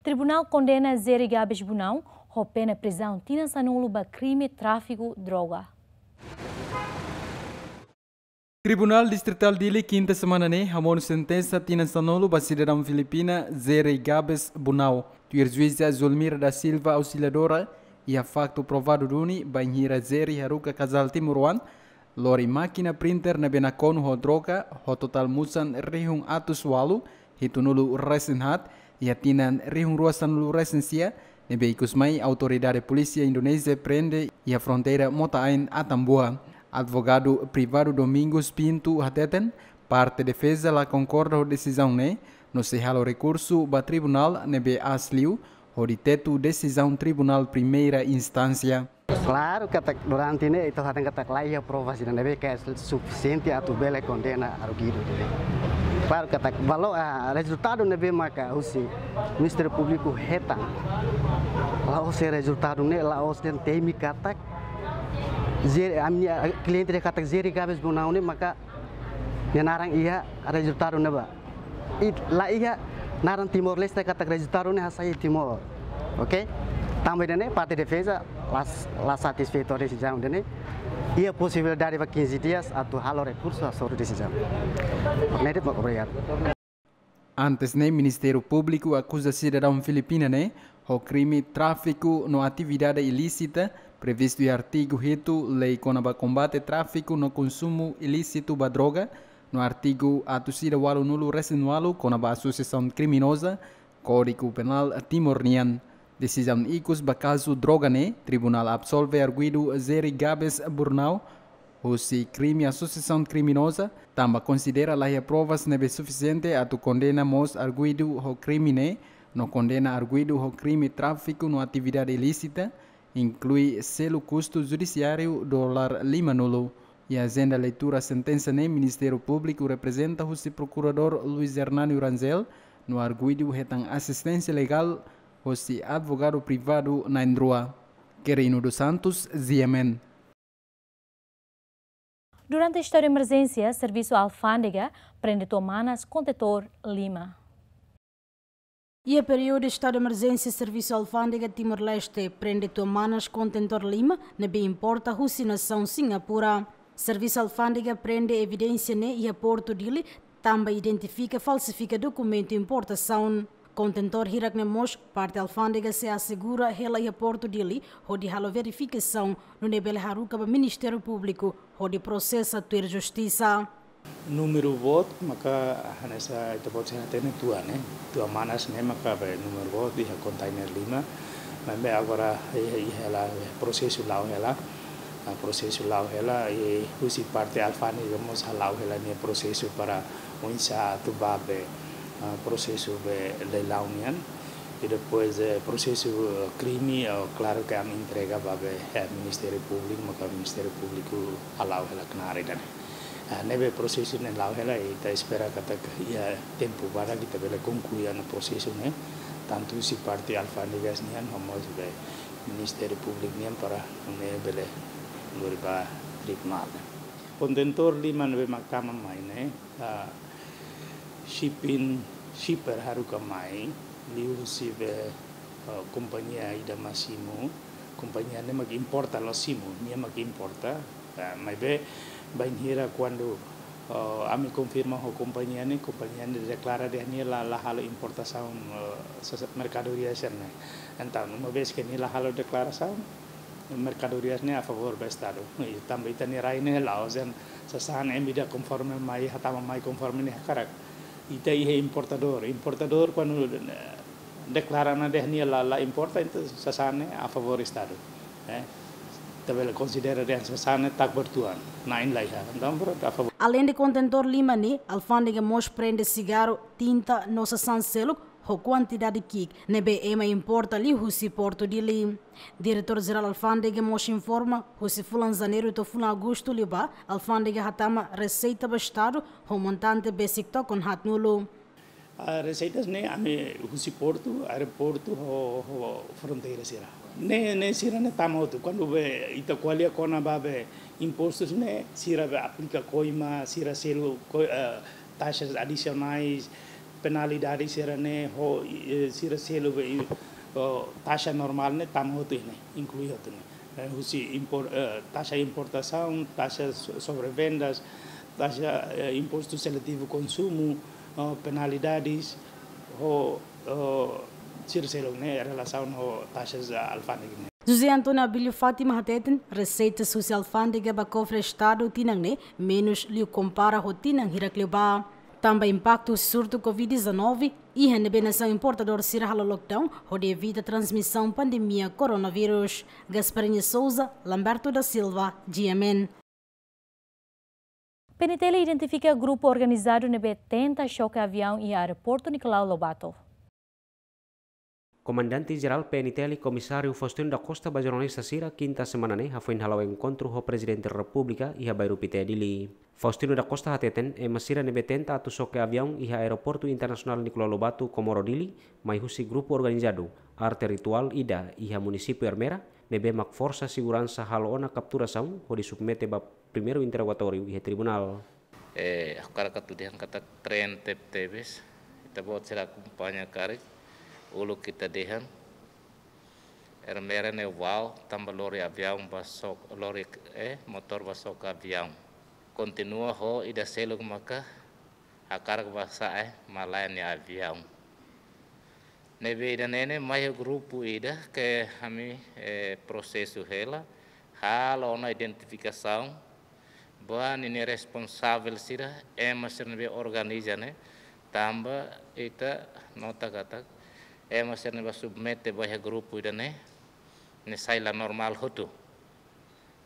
Tribunál kondena Jerry Gabes Bunau ho pena prizaun tinan sanulu ba krime tráfiku droga. Tribunál Distritál Dili kinta semana ne'e hamonu sentensa tinan sanulu ba sidadaun Filipina Jerry Gabes Bunau. Tuir Juíza Zulmira da Silva Auxiliadora, iha faktu provadu duni bainhira Jerry haruka kazál timoroan lori mákina printer ne'ebé nakonu ho droga ho totál musan rihun atus ualu hitunulu resin haat iha tinan rihun rua sanulu resin sia, ne'ebé ikus mai autoridade polísia Indonézia prende iha fronteira Mota Ain, Atambua. Advogadu privadu Domingos Pinto hateten, parte defeza la konkorda ho desizaun ne'e, no sei halo rekursu ba tribunál ne'ebé aas liu, hodi tetu desizaun Tribunál Primeira Instánsia. Klaru katak durante ne'e ita hateten katak la iha provas ida ne'ebé ke sufisiente atu bele kondena arguidu ne'e. Klaru katak valór, ah, rezultadu ne'ebé maka husi Ministériu Públiku hetan. La'ós rezultadu ne'e, la'ós dehan temi katak Jerry, ami-nia, ah, kliente dehan katak Jerry Gabes Bunau ne'e maka nia naran iha rezultadu ne'ebá. I la iha naran Timor-Leste katak rezultadu ne'e hasai Timor. Oke? Tanba ida-ne'e parte defeza la, la satisfeitu ho desizaun ida-ne'e. Iha posibilidade ba quinze dias atu halo rekursu hasoru desizaun. Ne'e de'it, obrigadu. Antes ne'e Ministériu Públiku akuza sidadaun Filipina ne'e ho krime tráfiku no atividade ilísita previstu iha artigu hitu Lei kona-ba Kombate Tráfiku no Konsumu Ilísitu ba Droga, no artigu atus ida ualunulu resin ualu kona-ba asosiasaun kriminoza Kódigu Penál Timor nian. Desizaun ikus ba kazu droga ne'e, tribunál absolve arguidu Jerry Gabes Bunau husi krime asosiasaun kriminoza, tanba konsidera la iha provas ne'ebé sufisiente atu kondena mós arguidu ho krime ne'e, no kondena arguidu ho krime tráfiku no atividade ilísita, inklui selu kustu judisiáriu dolar limanulu. Iha ajenda leitura sentensa ne'e, Ministériu Públiku reprezenta husi Prokuradór Luis Hernanio Rangel, no arguidu hetan asisténsia legál husi advogadu privadu na'in-rua. Querino dos Santos, G M N. Durante estadu de emerjénsia, Servisu Alfándega prende tua manas kontentór lima. Iha períodu estadu de emerjénsia, Servisu Alfándega Timor-Leste prende tua manas kontentór lima ne'ebé importa husi nasaun Singapura. Servisu Alfándega prende evidénsia ne'e iha Portu Dili, tanba identifika falsifika dokumentu importasaun. Kontentór hirak ne'e mós parte Alfándega sei asegura hela iha Portu Dili hodi halo verifikasaun, nune'e bele haruka ba Ministériu Públiku hodi prosesa tuir justisa. Númeru boot maka hanesan ita-boot sira hatene tua ne'e. Tua manas ne'e maka be númeru boot iha kontainer lima. Maibé agora iha, iha hela, prosesu la'o hela. Ah, prosesu la'o hela, i husi parte Alfándega mós hala'o hela nia prosesu para oinsá atu ba be, ah, prosesu be leilaun nian. I depois, eh, prosesu, eh, krime, eh, klaru ke ami entrega ba be, eh, Ministériu Públiku, maka Ministériu Públiku hala'o hela knaar ida-ne'e. Ah, ne'ebé prosesu ne'e la'o hela, ita espera katak iha tempu badak ita bele konklui ona prosesu ne'e. tantu husi parte alfándegas nian, ho mós be Ministériu Públiku nian para nune'e bele lori ba ritmu ne'e. Kontentór lima ne'ebé mak tama mai ne'e, ah, shipping, shipper haruka mai, liuhusi be, ah, kompañia ida mak simu, kompañia ne'e mak importa, la'ós simu, nia mak importa, ah, maibé bainhira kuandu, ah, ami konfirma ho kompañia ne'e, kompañia ne'e deklara dehan nia la, la halo importasaun, ah, sasa-, merkadoria sira-ne'e. Entaun, uma vez ke nia la halo deklarasaun, merkadoria ne'e a favór ba Estadu. I tanba ita-nia rai ne'e la'ós dehan sasán ema ida konforme mai, hatama mai konforme nia hakarak. Ita iha importadór. Importadór kuandu, eh, deklara ona dehan nia la, la importa, entaun sasán ne'e a favór Estadu. Eh, ita bele konsidera dehan sasán ne'e tak bertuan. Na'in la iha. Entaun, prontu, a favór. Aleinde kontentór lima ne'e, alfándega mós prende sigarru, tinta no sasán seluk, ho kuantidade ki'ik ne'ebé ema importa liuhusi Portu Dili. Diretór Jerál Alfándega mós informa, husi fulan Janeiru to'o fulan Agostu liubá, alfándega hatama reseita ba Estadu ho montante besik tokon haatnulu. Ah, reseitas ne'e ami husi portu, aeroportu, ho, ho fronteira sira. Ne'e, ne'e sira-ne'e tama hotu. Kuandu be ita ko'alia kona-ba be impostus ne'e, sira be aplika koima, sira selu ko-, eh, taxas adisionais, penalidade sira-ne'e, ho, eh, sira selu be, ho taxa normál ne'e tama hotu ne'e, inklui hotu ne'e. Eh, husi impor-, eh, taxa importasaun, taxa so-, sobre vendas, taxa, eh, impostu seletivu konsumu, eh, penalidades, ho, ho sira seluk ne'e relasaun ho taxas, eh, alfándega ne'e. José António Abílio Fátima hateten, reseitas husi alfándega ba kofre Estadu tinan ne'e menus liu kompara ho tinan hirak liubá. Tanba impaktu husi surtu covid dezanove, iha ne'ebé nasaun importadór sira halo lockdown, hodi evita transmisaun pandemia koronavírus. Gasparinha Souza, Lamberto da Silva, G M N. P N T L identifika grupu organizadu ne'ebé tenta xoke aviaun iha aeroportu Nicolau Lobato. Komandante Jerál P N T L, Komisáriu Faustino da Costa, ba jornalista sira, kinta semana ne'e, hafoin hala'o enkontru ho Prezidente Repúblika iha Bairru Pité, Dili. Faustino da Costa hateten, ema sira ne'ebé tenta atu xoke aviaun iha Aeroportu Internasionál Nicolau Lobato, Comoro, Dili, mai husi grupu organizadu, arte rituál ida iha munisípiu Ermera, ne'ebé mak forsa seguransa halo ona kapturasaun, hodi submete ba primeiru interrogatóriu iha tribunál. Eh, ha'u hakarak atu dehan katak tren tebetebes, ita-boot sira akompaña karik, uluk ita dehan, Ermera ne'e wa'u, tanba lori aviaun ba xoke, lori, eh, motór ba xoke aviaun. Kontinua ho ida seluk maka hakarak ba sa'e malae nia aviaun. Ne'ebé ida-ne'e ne'e mai iha grupu ida ke ami, eh, prosesu hela, halo ona identifikasaun ba ninia responsavel sira, ema sira ne'ebé organiza ne'e, tanba ita nota katak ema sira ne'ebé submete ba iha grupu ida-ne'e, ne'e sai la normál hotu.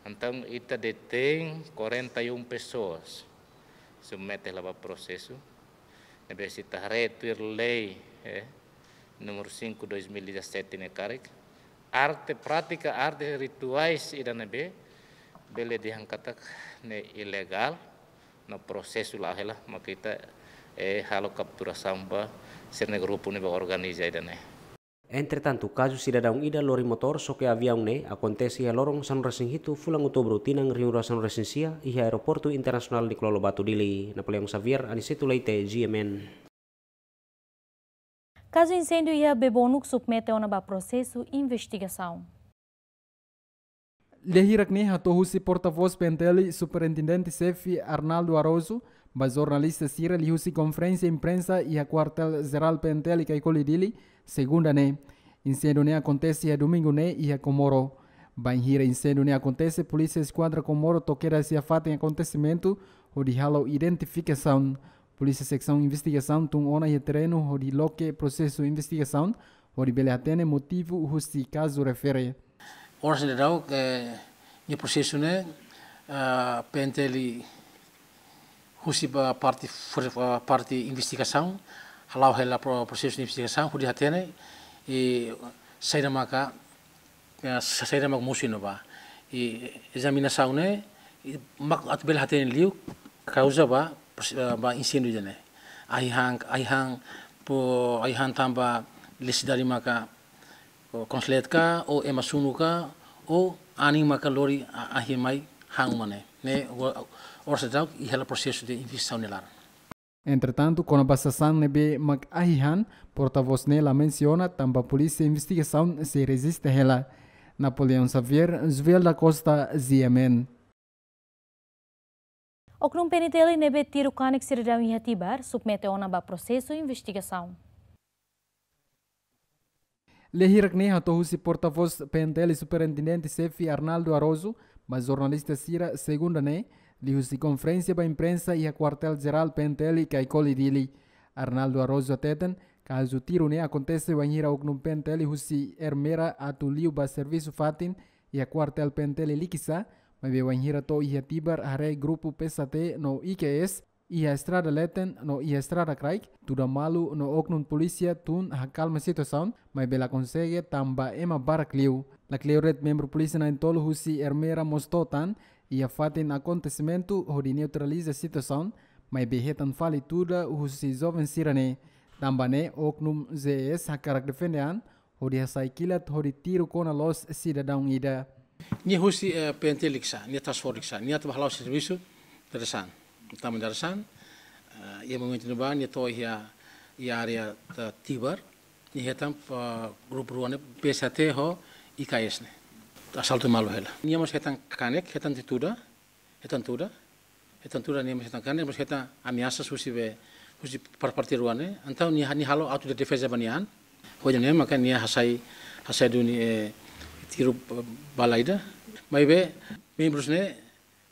Entaun, ita detein quarenta e um pessoas, submete hela ba prosesu, ne'ebé se ita haree tuir lei, eh, número cinco, dois mil e dezassete ne'e karik, arte, prátika arte rituais ida ne'ebé bele dehan katak ne'e ilegál, no prosesu la'o hela, maka ita, eh, halo kapturasaun ba sira-ne'e grupu ne'ebé organiza ida-ne'e. Entretantu, kazu sidadaun ida lori motór xoke aviaun ne'e akontese iha loron sanulu-resin-hitu fulan Outubru tinan rihun rua sanulu-resin-sia iha Aeroportu Internasionál Nicolau Lobato, Dili. Napoleão Xavier, Aniceto Leite, G M N. Kazu inséndiu iha Bebonuk submete ona ba prosesu investigasaun. Lia hirak ne'e hato'o husi portavós P N T L, Superintendente Xefe Arnaldo Araújo, ba jornalista sira liuhusi konferénsia imprensa iha Kuartél Jerál P N T L Caicoli, Dili, Segunda ne'e. Inséndiu ne'e akontese iha Domingu ne'e iha Comoro. Bainhira inséndiu ne'e akontese, Polísia Eskuadra Comoro to'o kedas iha fatin akontesimentu hodi halo identifikasaun. Polísia Seksaun Investigasaun tun ona iha terrenu hodi loke prosesu investigasaun, hodi bele hatene motivu husi kazu refere. Oras ne'e daudaun, eh, nia prosesu ne'e, ah, P N T L husi ba parte for-, ah, parte investigasaun, hala'o hela pro-, prosesu investigasaun, hodi hatene, eh, saida maka, eh, sa-, saida mak mosu iha ne'ebá. Eh, ezaminasaun ne'e, eh, mak atu bele hatene liu, kauza ba, pros-, ah, ba inséndiu ida-ne'e. Ai-han, ai-han, po, ai-han tanba Nesesidade maka, o, konslet ka, o ema sunu ka, o anin maka lori a-, ahi mai han uma ne'e. Ne'e, o, orsida i hela prosesu de investigasaun nia laran. Entretantu, kona-ba sasán ne'ebé mak ahi han, portavós ne'e la mensiona tanba polísia investigasaun sei rejista hela. Napoleão Xavier, Joel da Costa, G M N. Oknum P N T L ne'ebé tiru kanek sidadaun iha Tibar, submete ona ba prosesu investigasaun. Lia hirak ne'e hato'o husi portavós P N T L Superintendente Xefe Arnaldo Araújo ba jornalista sira Segunda ne'e, liuhusi konferénsia ba imprensa iha Kuartél Jerál P N T L Caicoli Dili. Arnaldo Araújo hateten, kazu tiru ne'e akontese wainhira oknum P N T L husi Ermera atu liu ba servisu fatin iha Kuartél P N T L Likisá, maibé wainhira to'o iha Tibar haree grupu P S A T no I K S iha estrada leten no iha estrada kraik, tuda malu no oknum polísia tun hakalma situasaun, maibé la konsege tanba ema barak liu. Lakleur de'it membru polísia na'in-tolu husi Ermera mós to'o tan iha fatin akontesimentu hodi neutraliza situasaun, maibé hetan fali tuda husi joven sira-ne'e. Tanba ne'e oknum G S hakarak defende an, hodi hasai kilat hodi tiru kona loos sidadaun ida. Nia husi, eh, P N T Likisá, nia task force Likisá, nia atu ba hala'o servisu dadeer-saan. Tanba dadeer-saan, eh, iha momentu ne'ebá nia to'o iha, iha área, eh, Tibar, nia hetan, eh, grupu rua ne'e P S A T ho I K S ne'e. Asaltu malu hela. Nia mós hetan kanek, hetan tuda, hetan tuda, hetan tuda nia mós hetan kanek, mós hetan ameasa husi be, husi par-, parte rua ne'e. Entaun nia, nia halo autodefeza ba nia an. Hodi ne'e maka nia hasai, hasai duni, eh, tiru, eh, bala ida. Maibé membrus ne'e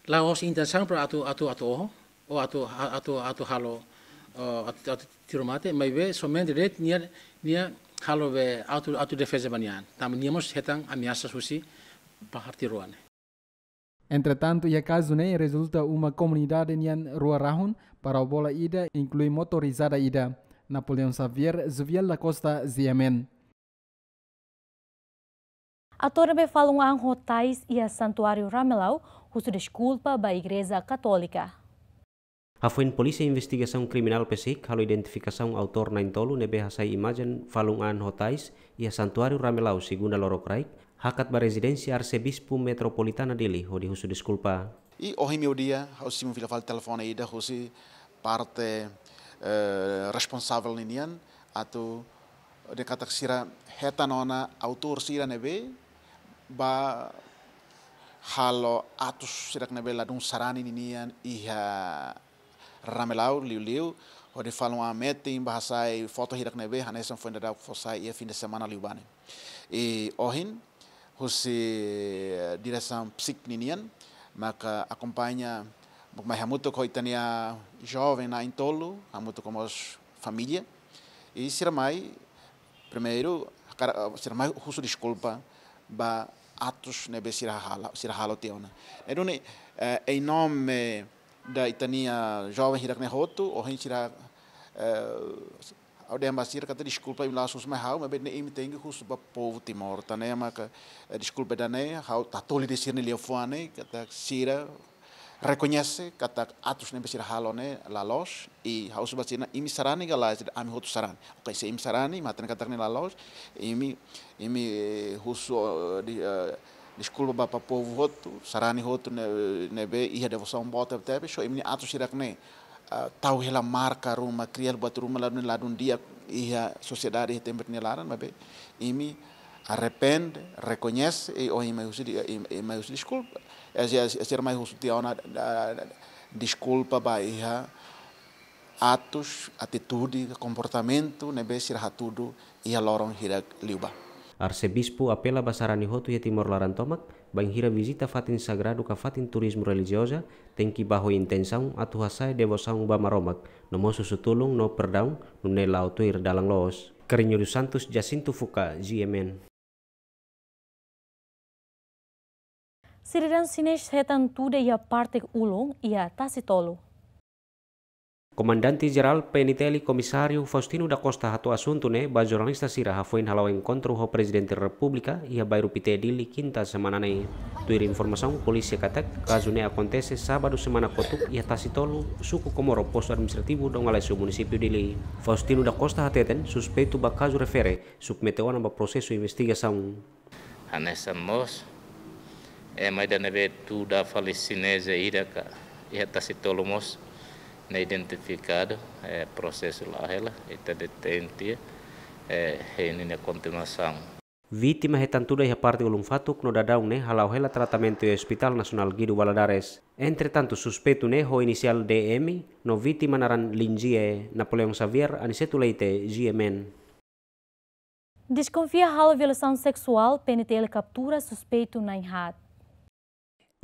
la'ós intensaun para atu, atu, atu oho, ou atu, atu, atu halo, eh, atu, atu tiru mate, maibé somente de'it nia, nia halo be auto, autodefeza ba nia an. Tanba nia mós hetan ameasa husi parte rua ne'e. Entretantu, iha kazu ne'e rezulta uma komunidade nian rua rahun, parau bola ida, inklui motorizada ida. Napoleão Xavier, Zuviel da Costa, G M N. Atór ne'ebé falun an ho tais iha Santuáriu Ramelau husu deskulpa ba Igreja Katólika. Hafoin Polísia Investigasaun Kriminál PCIC halo identifikasaun autór na'in-tolu ne'ebé hasai imajen falun an ho tais iha Santuáriu Ramelau, Segunda lorokraik, hakat ba rezidénsia Arsebispu Metropolitana Dili hodi husu deskulpa. I ohin meiudia, ha'u simu fila fali telefone ida husi parte, eh, responsavel ninian, atu dehan katak sira hetan ona autór sira ne'ebé ba halo atus sira ne'ebé ladún sarani ninian iha Ramelau, liuliu hodi falun an metin ba hasai foto hirak ne'ebé hanesan foin daudauk fó sai iha fin de semana liubá ne'e. I ohin, husi, eh, diresaun PCIC ninian, maka akompaña, mak mai hamutuk ho ita-nia joven na'in-tolu, hamutuk ho mós família. I sira mai, primeiru, hakarak, sira mai husu deskulpa ba atus ne'ebé sira halo, sira halo tiha ona. Ne'e duni, eh, em nome da ita-nia joven hirak ne'e hotu, ohin sira, eh, ha'u dehan ba sira katak deskulpa imi la'ós husu mai ha'u, maibé ne'e imi tenke husu ba povu Timor. Tan ne'e maka, eh, deskulpa ida-ne'e, ha'u tatoli de'it sira-nia liafuan ne'e, katak sira rekoñese katak atus ne'ebé sira halo ne'e la loos, i ha'u husu ba sira, imi sarani ka lae, ami hotu sarani. Oke, se imi sarani, imi hatene katak ne'e la loos, imi, imi, eh, husu, eh, di, eh, deskulpa ba, ba povu hotu, sarani hotu ne'e, ne'ebé iha devosaun boot tebe-tebes, só imi-nia atus hirak ne'e, ah, tau hela marka ruma, kria buat ruma ladún, ladún di'ak iha sosiedade, iha tempu nia laran, maibé imi arrepende, rekoñese, i ohin mai husu di, i, i mai husu deskulpa. E, e, e, sira mai husu tiha ona, ah, deskulpa ba iha atus, atitude, komportamentu ne'ebé sira hatudu iha loron hirak liubá. Arsebispu apela ba sarani hotu iha Timor laran tomak, bainhira vizita fatin sagradu ka fatin turizmu relijioza, tenke ba ho intensaun atu hasa'e devosaun ba Maromak, no mós husu tulun no perdaun, nune'e la'o tuir dalan loos. Carrinho dos Santos, Jacinto Fuca, G M N. Sidadaun xinés hetan tuda iha parte ulun iha Tasitolu. Komandante Jerál P N T L Komisáriu Faustino da Costa hato'o asuntu ne'e ba jornalista sira hafoin hala'o enkontru ho Prezidente Repúblika iha bairru Pité, Dili, kinta semana ne'e. Tuir informasaun polísia katak, kazu ne'e akontese sábadu semana kotuk iha Tasi Tolu, suku Komoro, postu administrativu Dom Aleixo, munisípiu Dili. Faustino da Costa hateten, suspeitu ba kazu refere submete ona ba prosesu investigasaun. Hanesan mós ema ida ne'ebé tuda fali sineze ida ka iha Tasi Tolu mós ne'e identifikadu, eh, prosesu la'o hela, ita detente, eh, hein ninia kontinuasaun. Vítima hetan tuda iha parte ulun fatuk no daudaun ne'e hala'o hela tratamentu iha Hospital Nasionál Guido Valadares. Entretantu, suspeitu ne'e ho inisiál D M no vítima naran Linjie. Napoleão Xavier, Aniceto Leite, G M N. Deskonfia halo violasaun seksuál, P N T L kaptura suspeitu na'in haat.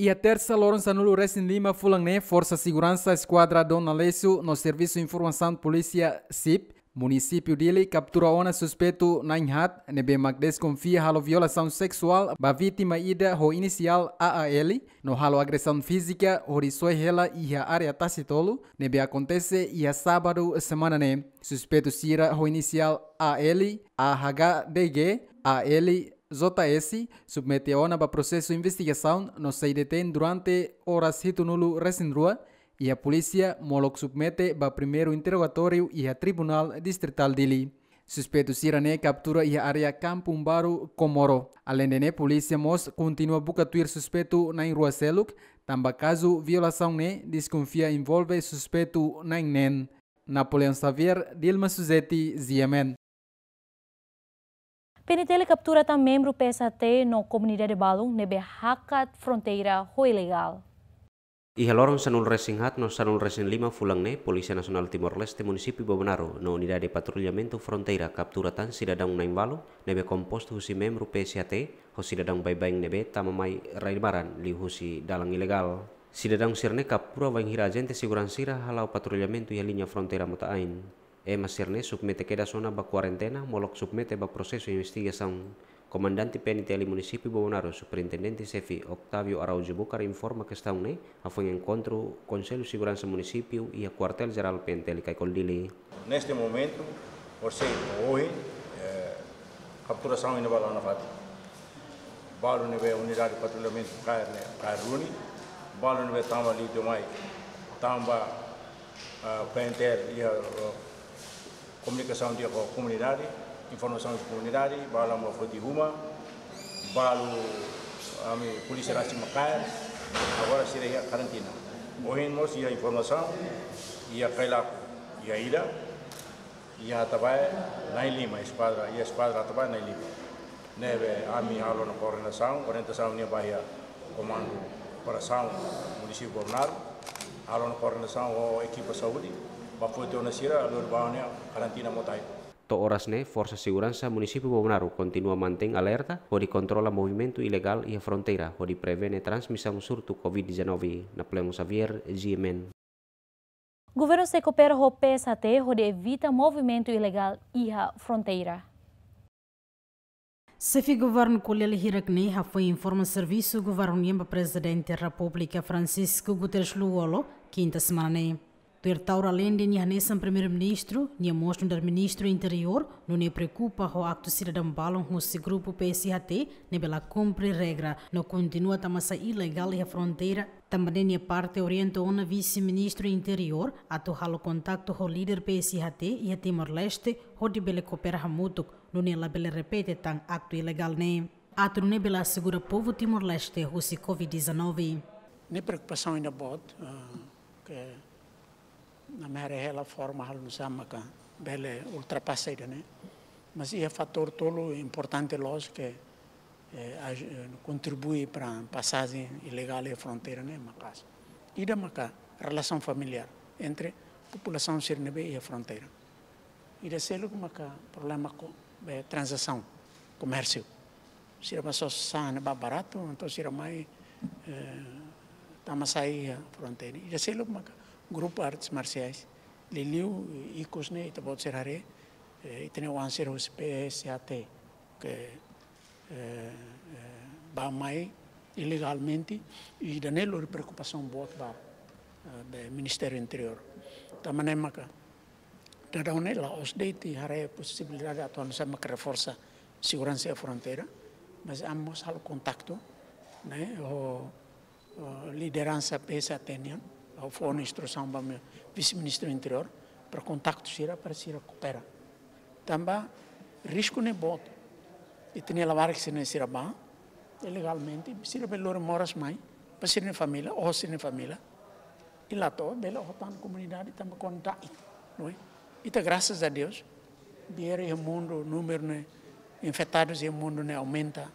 Iha tersa loron sanulu-resin-lima fulan ne'e, Forsa Seguransa Eskuadra Dom Aleixo no Servisu Informasaun Polísia, sip, munisípiu Dili kaptura ona suspeitu na'in haat ne'ebé mak deskonfia halo violasaun seksuál ba vítima ida ho inisiál A A L no halo agresaun fízika hodi soe hela iha área Tasi Tolu ne'ebé akontese iha sábadu semana ne'e. Suspeitu sira ho inisiál A L, A H D G, A L J S submete ona ba prosesu investigasaun no sei detein durante oras hitunulu-resin-rua iha polísia molok submete ba primeiru interrogatóriu iha Tribunál Distritál Dili. Suspeitu sira ne'e kaptura iha área Kampung Baru, Komoro. Aleinde ne'e, polísia mós kontinua buka tuir suspeitu na'in-rua seluk, tanba kazu violasaun ne'e deskonfia envolve suspeitu na'in-neen. Napoleão Xavier, Dilma Suzeti, G M N. P N T L kaptura tan membru P S H T no komunidade balun ne'ebé hakat fronteira ho ilegál. Iha loron sanulu-resin-haat no sanulu-resin-lima fulan ne'e, Polísia Nasionál Timor-Leste, munisípiu Bobonaro no Unidade Patrullamentu Fronteira kaptura tan sidadaun na'in-ualu ne'ebé kompostu husi membru P S H T ho sidadaun baibain ne'ebé tama mai rai-barak liuhusi dalan ilegál. Sidadaun sira ne'e kaptura bainhira ajente seguransa sira hala'o patrullamentu iha liña fronteira Mota-Ain. Ema sira ne'e submete kedas ona ba kuarentena, molok submete ba prosesu investigasaun. Komandante P N T L munisípiu Bobonaro, Superintendente Xefe Octavio Araújo Bucar, informa kestaun ne'e hafoin enkontru Konsellu Seguransa Munisípiu iha Kuartél Jerál P N T L Caicol, Dili. Neste momento, por ser ohin, eh, kapturasaun iha ne'ebá la'o nafatin. Balu ne'ebé unidade patrullamentu kaer ne'e, kaer duni. Balu ne'ebé tama liu demais, tanba, ah, P N T L iha, ah, komunikasaun di'ak ho komunidade, informasaun husi komunidade, balu mak foti uma, balu ami polísia rasik mak kaer, agora sira iha karantina. Ohin mós iha informasaun, iha Kailaku iha ida, iha Atabae na'in-lima, eskuadra, iha eskuadra Atabae na'in-lima. Ne'ebé ami halo ona koordenasaun, orientasaun nian ba iha Komandu Operasaun Munisípiu Bobonaro, halo ona koordenasaun ho ekipa saúde, ba foti ona sira, lori ba ona iha karantina Mota-Ain. To'o oras ne'e, Forsa Seguransa Munisípiu Bobonaro kontinua mantein alerta hodi kontrola movimentu ilegál iha fronteira, hodi prevene transmisaun surtu covid dezanove. Napoleão Xavier, G M N. Governu sei koopera ho P S H T hodi evita movimentu ilegál iha fronteira. Xefe Governu ko'alia hirak-ne'e hafoin informa servisu governu nian ba Prezidente Repúblika Francisco Guterres Lú-Olo, kinta semana ne'e. Tuir Taur, aleinde nia hanesan Primeiru-Ministru, nia mós nu'udar Ministru Interiór, nune'e preokupa ho aktu sidadaun balun husi grupu P S H T ne'ebé la kumpre regra no kontinua tama-sai ilegál iha fronteira. Tanba ne'e nia parte orienta ona Vise-Ministru Interiór atu halo kontaktu ho líder P S H T iha Timor-Leste hodi bele koopera hamutuk, nune'e labele repete tan aktu ilegál ne'e, atu nune'e bele asegura povu Timor-Leste husi covid dezanove. Ne'e preokupasaun ida boot, eh, ke ami haree hela forma halo nusá maka bele ultrapasa ida-ne'e. Mas iha fatór tolu importante loos ke, eh, aj-, eh, kontribui para pasajen ilegál iha fronteira ne'e maka'as. Ida maka relasaun familiár entre populasaun sira ne'ebé iha fronteira. Ida seluk maka problema ko, be, tranzasaun, komérsiu. Sira bá sosa sasán ne'ebá baratu, entaun sira mai, eh, tama-sai iha fronteira. Ida seluk maka grupu artes marsiais. Liuliu ikus ne'e ita-boot sira haree, eh, ita-nia oan sira husi P S H T ke, eh, eh, bá mai ilegalmente, i ida-ne'e lori preokupasaun boot ba, eh, be Ministériu Interiór. Tanba ne'e maka daudaun ne'e la'ós de'it haree posibilidade atu hanesan maka reforsa seguransa iha fronteira, mas ami mós halo kontaktu, ne'e, ho, ho lideransa P S A T nian, ha'u fó ona instrusaun ba ami Vise-Ministru Interiór, para kontaktu sira, para sira koopera. Tanba risku ne'e boot. Ita-nia labarik sira-ne'e sira bá ilegalmente, sira bele lori moras mai ba sira-nia família, oho sira-nia família. I la to'o bele oho tan komunidade tanba kondai, não é? Ita, graças a Deus, biar iha mundu númeru ne'e infetadus iha mundu ne'e aumenta,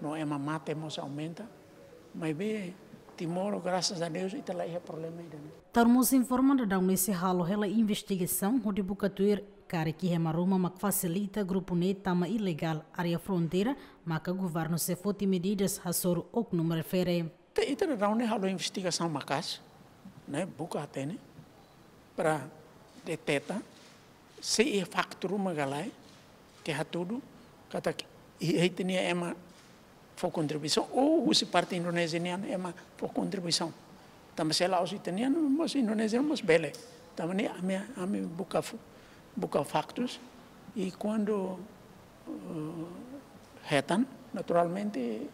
no ema mate mós aumenta, maibé Timor, graças a Deus, ita la iha problema ida-ne'e. Taur mós informa daudaun ne'e sei halo hela investigasaun hodi buka tuir karik iha ema ruma mak fasilita grupu ne'e tama ilegál área fronteira, maka governu sei foti medidas hasoru oknum refere. Ita, ita daudaun ne'e halo investigasaun maka'as, ne'e, buka hatene, para deteta se iha faktu ruma ka lae, ke hatudu katak iha ita-nia ema fó kontribuisaun, ou husi parte Indonézia nian ema fó kontribuisaun. Tanba se la'ós ita-nian, mós Indonézia mós bele. Tanba ne'e ami, ami buka fu-, buka faktus, i kuandu, eh, hetan, naturalmente, eh,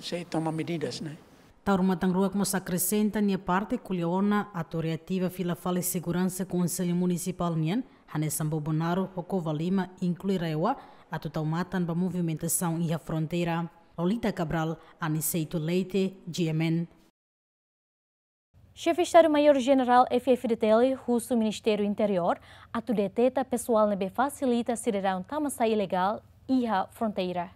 sei toma medidas, ne'e. Taur matan-ruak mós akresenta nia parte ko'alia ona atu reativa fila fali seguransa Konsellu Munisipál nian, hanesan Bobonaro, ho Covalima, inklui RAEOA, atu tau matan ba movimentasaun iha fronteira. Lolita Cabral, Aniceto Leite, G M N. Xefe Estadu-Maiór Jenerál F-FDTL husu Ministériu Interiór atu deteta pesoál ne'ebé fasilita sidadaun tama-sai ilegál iha fronteira.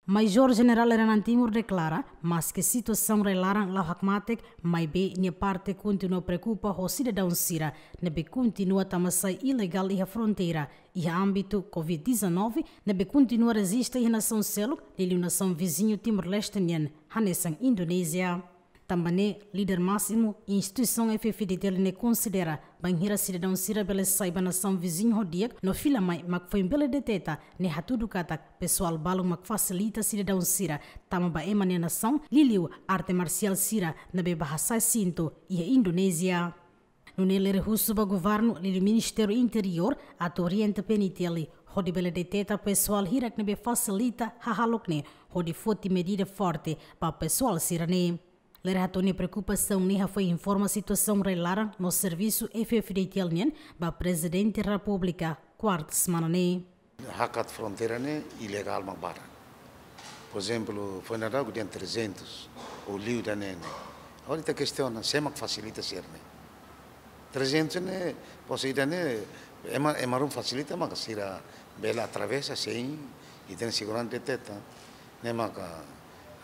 Maiór Jenerál Rai-Laran Timor deklara, maske situasaun rai-laran la'o hakmatek, maibé nia parte kontinua preokupa ho sidadaun sira ne'ebé kontinua tama-sai ilegál iha fronteira, iha ámbitu Covid dezanove, ne'ebé kontinua rejista iha nasaun seluk, liuliu nasaun viziñu Timor-Leste nian, hanesan Indonézia. Tanba ne'e, líder másimu instituisaun F-FDTL ne'e konsidera, bainhira sidadaun sira bele sai ba nasaun viziñu ho di'ak, no fila mai mak foin bele deteta, ne'e hatudu katak pesoál balun mak fasilita sidadaun sira tama ba ema nia nasaun, liuliu arte marsiál sira ne'ebé bá hasa'e sintu iha Indonézia. Nune'e Lere husu ba governu, liuliu Ministériu Interiór, atu orienta P N I T L, hodi bele deteta pesoál hirak ne'ebé fasilita hahalok ne'e, hodi foti medida forte ba pesoál sira-ne'e. Lere hato'o nia preokupasaun ne'e hafoin informa situasaun rai-laran no servisu F-FDTL nian ba Prezidente Repúblika, kuarta semana ne'e. Hakat fronteira ne'e ilegál mak barak. Por ezemplu, foin daudaun dehan trezentus, ou liu ida-ne'e ne'e. Agora ita kestiona, sé mak fasilita sira-ne'e? Trezentus ne'e, pois ida-ne'e, ema, ema ruma fasilita maka sira bele atravesa sein ita-nia seguransa deteta. Ne'e maka,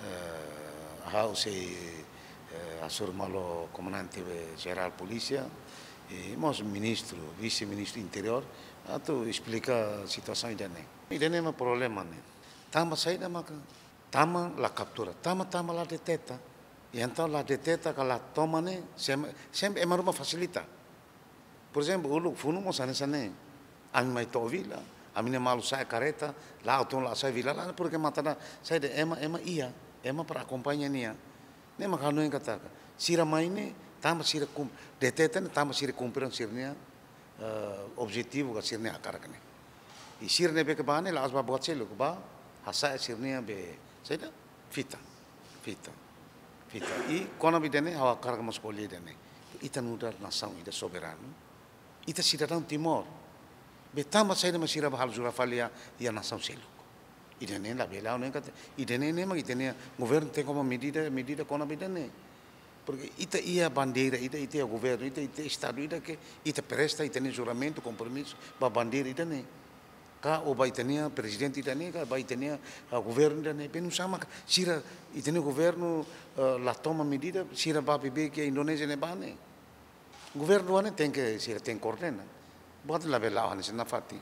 eh, ha'u sei, eh, hasoru malu Komandante Jerál Polísia, i mós Ministru, Vise-Ministru Interiór, atu esplika situasaun ida-ne'e. Ida-ne'e mak problema ne'e. Tanba saida maka tama la kaptura, tama, tama la deteta. I entaun la deteta ka la toma ne'e, sem-, sempre ema ruma fasilita. Por ezemplu, uluk funu mós hanesan ne'e. Ami mai to'o vila, ami-nia malu sa'e kareta, la'o tun la sai vila, la, porke matan da, saida, ema, ema iha, ema para akompaña nia. Ne'e mak hanoin katak, sira mai ne'e, tanba sira kum-, deteta ne'e, tanba sira kumpre sira-nia, eh, objetivu ka sira-nia hakarak ne'e. I sira ne'ebé ke bá ne'e, la'ós bá buat seluk, bá hasa'e sira-nia be, saida, fita, fita, fita. I kona-ba ida-ne'e, ha'u hakarak mós ko'alia ida-ne'e. Ita nu'udar nasaun ida soberanu, ita sidadaun Timor. Be tanba saida mak sira bá halo jura fali iha, iha nasaun seluk? Ida-ne'e labele, ha'u hanoin katak, ida-ne'e ne'e mak ita-nia governu tenke toma medida, medida kona-ba ida-ne'e. Porke ita iha bandeira ida, ita iha governu ida, ita iha Estadu ida ke ita presta ita-nia juramentu, kompromisu ba bandeira ida-ne'e. Ka ou ba ita-nia prezidente ida-ne'e, ka ba ita-nia, ah, governu ida-ne'e. Be nusá mak sira, ita-nia governu, ah, la toma medida, sira bá bebeik iha Indonézia ne'ebá ne'e. Governu ne'e tenke, sira tenke koordena. Buat labele la'o hanesan nafatin.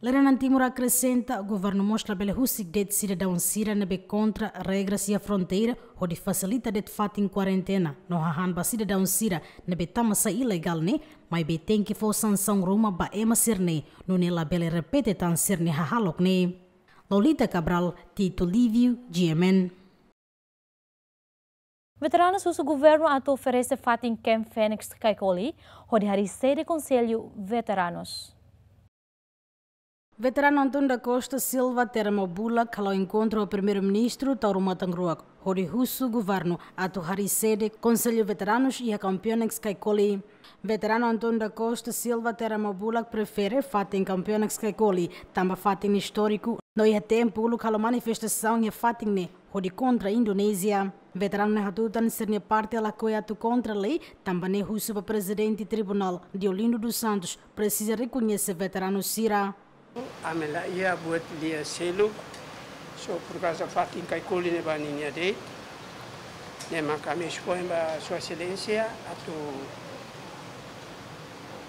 Lere-na'in Timur akresenta, governu mós labele husik de'it sidadaun sira ne'ebé kontra regras iha fronteira, hodi fasilita de'it fatin kuarentena, no hahán ba sidadaun sira ne'ebé tama-sai ilegál ne'e, maibé tenke fó sansaun ruma ba ema sira-ne'e, nune'e labele repete tan sira-nia hahalok ne'e. Lolita Cabral, Tito Lívio, G M N. Veteranus husu governu atu oferese fatin Camp Phoenix Caicoli, hodi harii sede Konsellu Veteranus. Veteranu António da Costa Silva Teramo Bulak halo enkontru ho Primeiru-Ministru Taur Matan Ruak, hodi husu governu atu harii sede Konsellu Veteranus iha Camp Phoenix Caicoli. Veteranu António da Costa Silva Teramo Bulak prefere fatin Camp Phoenix Caicoli, tanba fatin istóriku, no iha tempu uluk halo manifestasaun iha fatin ne'e hodi kontra Indonézia. Veteranu ne'e hatutan sira-nia parte lakohi atu kontra lei, tanba ne'e husu ba Prezidente Tribunál, Deolindo dos Santos, presiza rekoñese veteranu sira. Ami la iha buat lia seluk, só por kauza fatin Caicoli ne'ebá ninia de'it, ne'e mak ami espoin ba Sua Exelénsia atu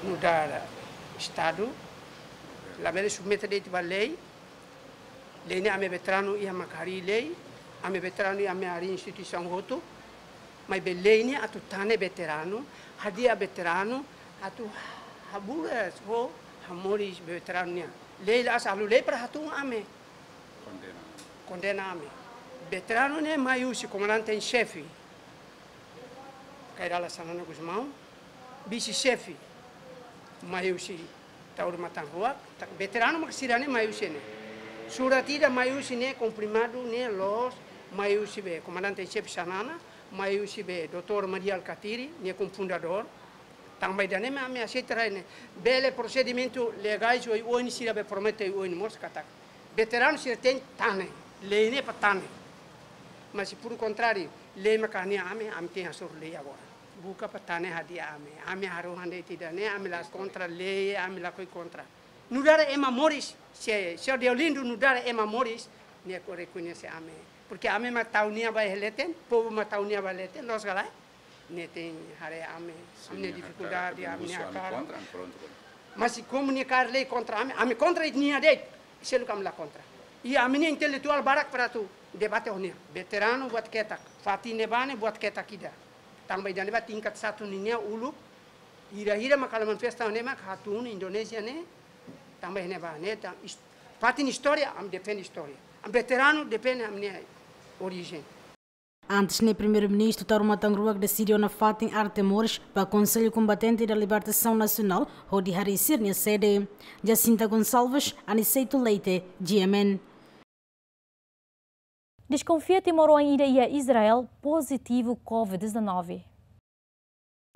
nu'udar Estadu, labele submete de'it ba lei. Lei ne'e ami veteranu iha mak harii lei, ami veteranu iha mak harii instituisaun hotu, maibé lei ne'e atu tane veteranu, hadi'a veteranu, atu haburas ho hamoris veteranu nian. Lei la'ós halo lei para hatún ami. Kondena. Kondena ami. Veteranu ne'e mai husi komandante en xefe Kay Rala Xanana Gusmão, vise-xefe mai husi Taur Matan Ruak, tak veteranu mak sira-ne'e mai husi ne'e. Surat ida mai husi ne'e, konfirmadu ne'e loos, mai husi be komandante en xefe Xanana, mai husi be doutór Mari Alkatiri, nia kofundadór. Tanba ida-ne'e mak ami aseita rai ne'e. Bele prosedimentu legais oioin sira be promete oioin mós katak veteranu sira tenke tane, lei ne'e para tane. Mas se por contrário, lei mak hadi'a ami, ami tenke hasoru lei agora. Buka para tane hadi'a ami. Ami harohan de'it ida-ne'e, ami la kontra lei, ami lakohi kontra. Nu'udar ema moris, se, se Deolindo nu'udar ema moris, nia ko rekoñese ami. Porque ami mak tau nia ba iha leten, povu mak tau nia ba leten, loos ka lae? Nia tenke haree ami, ami-nia difikuldade, ami-nia hakarak. Mas se komu nia kaer lei kontra ami, ami kontra nia de'it, seluk ami la kontra. I ami-nia intelektuál barak para atu debate ho nia. Veteranu buat ketak, fatin ne'ebá ne'e buat ketak ida. Tanba ida-ne'ebá tingkat satu ninia uluk, hira-hira mak halo manifesta ne'e mak hatún Indonézia ne'e, tanba ne'ebá ne'e, tan is-, fatin istória, ami defende istória. Ami veteranu defende ami-nia orijen. Antes ne'e Primeiru-Ministru Taur Matan Ruak deside ona fatin Arte Moris ba Konsellu Kombatente da Libertasaun Nasionál hodi harii sira-nia sede. Jacinta Gonçalves, Aniceto Leite, G M N. Deskonfia timoroan ida iha Israel pozitivu covid dezanove.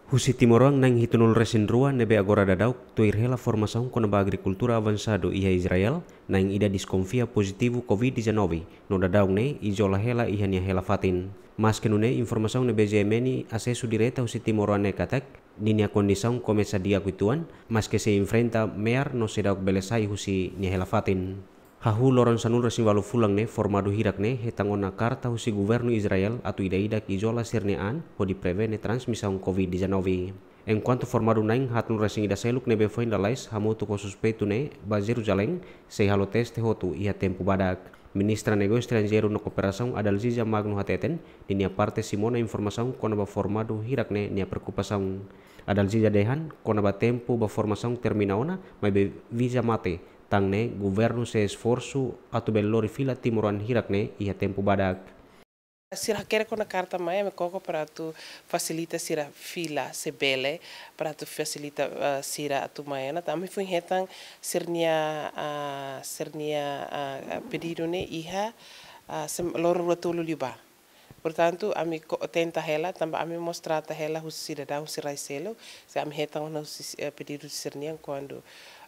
Husi timoroan na'in hitunulu resin rua ne'ebé agora daudauk tuir hela formasaun kona-ba agrikultura avansadu iha Israel, na'in ida deskonfia pozitivu covid dezanove, no daudaun ne'e izola hela iha nia hela fatin. Maske nune'e informasaun ne'ebé G M N asesu direta husi timoroan ne'e katak, ninia kondisaun komesa di'ak uitoan, maske sei enfrenta me'ar no seidauk bele sai husi nia hela fatin. Hahú loron sanulu resin ualu fulan ne'e formadu hirak ne'e hetan ona karta husi governu Israel atu ida-idak izola sira-nia an hodi prevene transmisaun covid dezanove. Enkuantu formadu na'in haatnulu resin ida seluk ne'ebé foin lalais hamutuk ho suspeitu ne'e ba Jeruzalén sei halo teste hotu iha tempu badak. Ministra Negósiu Estranjeiru no Kooperasaun Adalziza Magno hateten, ninia parte simu ona informasaun kona-ba formadu hirak ne'e nia preokupasaun. Adalziza dehan, kona-ba tempu ba formasaun termina ona, maibé viza mate, tan ne'e governu sei esforsu atu bele lori fila timoroan hirak ne'e iha tempu badak. Sira hakerek ona karta mai, ami koko para atu fasilita sira fila, se bele, para atu fasilita, eh, sira atu mai ona. Ami foin hetan sira-nia, ah, sira-nia, ah, pedidu ne'e iha, ah, sem-, loron rua tolu liubá. Portantu, ami ko-, tenta hela, tanba ami mós trata hela husi sidadaun sira rai seluk, se ami hetan ona husi, eh, pedidu sira-nian kuandu,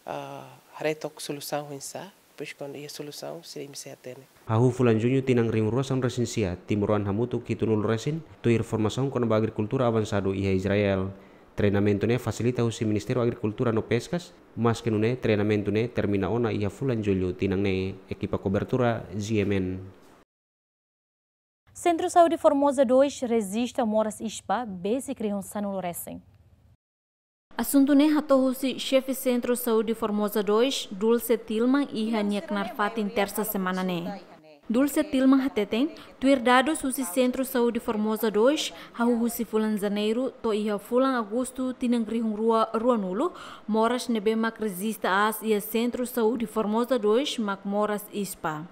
ah, haree took solusaun oinsá, depois kuandu iha solusaun, sira imi sei hatene. Hahú fulan Juñu tinan rihun rua sanulu resin sia, timoroan hamutuk hitunulu resin, tuir formasaun kona-ba agrikultura avansadu iha Israel. Treinamentu ne'e fasilita husi Ministériu Agrikultura no Peskas, maske nune'e treinamentu ne'e termina ona iha fulan Jullu tinan ne'e. Ekipa kobertura, G M N. Sentru Saúde Formosa dois rejista moras ISPA, besik rihun sanulu resin. Asuntu ne'e hato'o husi xefe Sentru Saúde Formosa dois, Dulce Tilman, iha nia knaar fatin Tersa semana ne'e. Dulce Tilman hateten, tuir dadus husi Sentru Saúde Formosa dois, hahú husi fulan Janeiru to'o iha fulan Agostu tinan rihun rua ruanulu, moras ne'ebé mak rejista aas iha Sentru Saúde Formosa dois mak moras ISPA.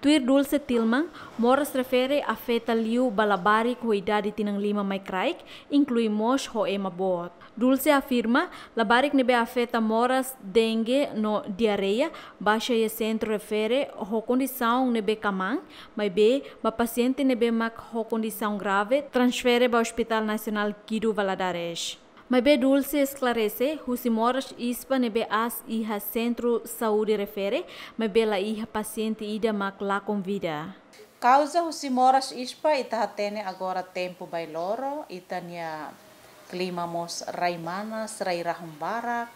Tuir Dulce Tilman, moras refere afeta liu ba labarik ho idade tinan lima mai kraik, inklui mós ho ema boot. Dulce afirma, labarik ne'ebé afeta moras dengue no diarreia, baixa iha sentru refere ho kondisaun ne'ebé kmaan, maibé ba pasiente ne'ebé mak ho kondisaun grave, transfere ba Hospital Nasionál Guido Valadares. Maibé Dulce esklarese, husi moras ispa ne'ebé aas iha sentru saúde refere, maibé la iha pasiente ida mak lakon vida. Kauza husi moras ispa ita hatene agora tempu bailoro, ita-nia klima mós rai manas, rai rahun barak,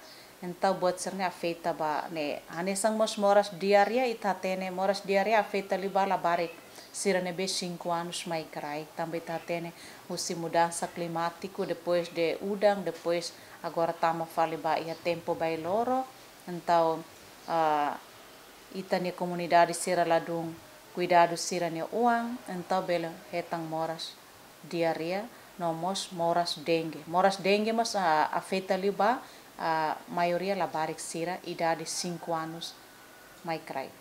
entaun buat sira-ne'e afeta ba ne'e. Hanesan mós moras diarreia, ita hatene moras diarreia afeta liu ba labarik sira ne'ebé cinco anos mai kraik, tanba ita hatene husi mudansa klimátiku, depois de udan, depois agora tama fali ba iha tempu bailoro, entaun, ah, ita-nia komunidade sira ladún kuidadu sira-nia oan, entaun bele hetan moras diarreia, no mós moras dengue. Moras dengue mós, ah, afeta liu ba, ah, maioria labarik sira idade cinco anos mai kraik.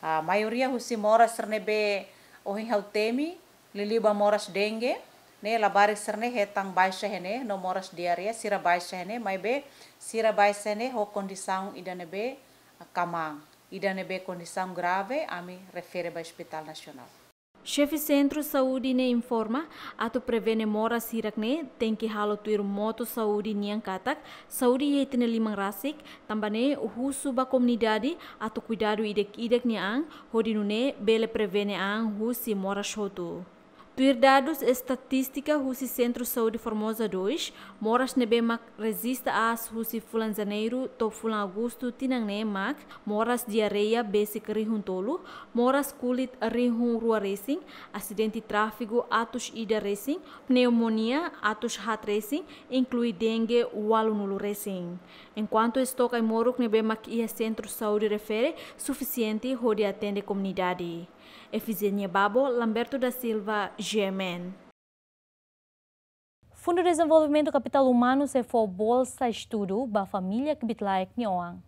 Ah, maioria husi moras sira ne'ebé ohin ha'u temi, liuliu ba moras dengue, ne'e labarik sira-ne'e hetan baixa iha ne'e, no moras diarreia sira baixa iha ne'e, maibé sira baixa iha ne'e ho kondisaun ida ne'ebé, ah, kmaan, ida ne'ebé kondisaun grave, ami refere ba Hospital Nasionál. Xefe Sentru Saúde ne'e informa, atu prevene moras hirak-ne'e, tenke halo tuir motu saúde nian katak, saúde iha ita-nia liman rasik, tanba ne'e husu ba komunidade atu kuidadu ida-idak nia an, hodi nune'e bele prevene an husi moras hotu. Tuir dadus estatístika husi Sentru Saúde Formosa dois, moras ne'ebé mak rejista aas husi fulan Janeiru to'o fulan Agostu tinan ne'e mak moras diarreia besik rihun tolu, moras kulit rihun rua resin, asidente tráfegu atus ida resin, pneumonia atus haat resin, inklui dengue ualunulu resin. Enkuantu estok ai-moruk ne'ebé mak iha sentru saúde refere sufisiente hodi atende komunidade. Efigenia Babo, Lamberto da Silva, G M N. Fundu Dezenvolvimentu Kapitál Umanu sei fó bolsa estudu ba família kbiit-laek nia oan.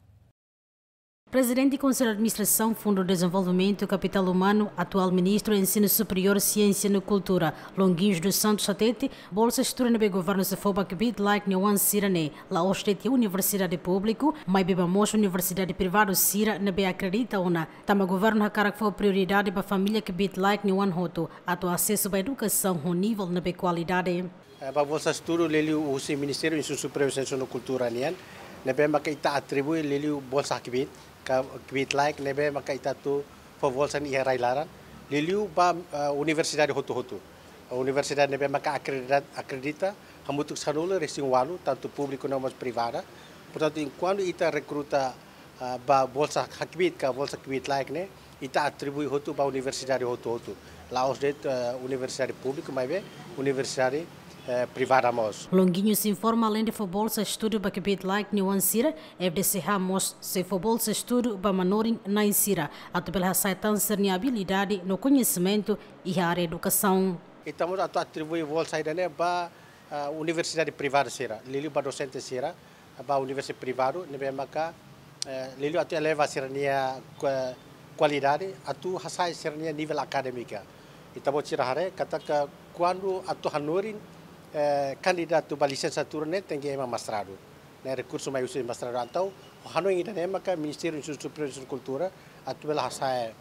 Prezidente Konsellu Administrasaun Fundu Dezenvolvimentu Kapitál Umanu, atuál Ministru Ensinu Superiór, Siénsia no Kultura, Longuinhos dos Santos hatete, bolsa estudu ne'ebé governu sei fó ba kbiit-laek nia oan sira-ne'e la'ós de'it iha universidade públiku, maibé ba mós universidade privadu sira ne'ebé akredita ona, tanba governu hakarak fó prioridade ba família kbiit-laek nia oan hotu atu asesu ba edukasaun ho nivel ne'ebé kualidade. Eh, ba bolsa estudu liuliu husi Ministériu Ensinu Superiór, Siénsia no Kultura nian, ne'ebé maka ita atribui liuliu bolsa hakbiit, ka kbiit-laek ne'ebé maka ita atu fó bolsa iha rai-laran, liuliu ba, eh, universidade hotu-hotu. Universidade ne'ebé maka akredita, akredita hamutuk sanulu-resin-ualu, tantu públiku no mós privada. Portantu, enkuantu ita rekruta, ah, ba bolsa hakbiit ka bolsa kbiit-laek ne'e, ita atribui hotu ba universidade hotu-hotu. La'ós de'it, eh, universidade públiku, maibé universidade, eh, privada mós. Longuinhos informa, aleinde fó bolsa estudu ba kbiit-laek nia oan sira, F D C H mós sei fó bolsa estudu ba manorin-na'in sira, atu bele hasa'e tan sira-nia abilidade no koñesimentu iha área edukasaun. Ita mós atu atribui bolsa ida-ne'e ba, ah, universidade privada sira, liuliu ba dosente sira, ba universidade privadu, ne'ebé maka, eh, liuliu atu eleva sira-nia kua-, kualidade, atu hasa'e sira-nia nivel akadémika. Ita-boot sira haree katak kuandu atu hanorin, eh, kandidatu ba lisensiatura ne'e tenke ema mestradu. Ne'e rekursu mai husi mestradu. Entaun, hanoin ida-ne'e maka Ministériu Ensinu Superiór, Ensinu Kultura atu bele hasa'e,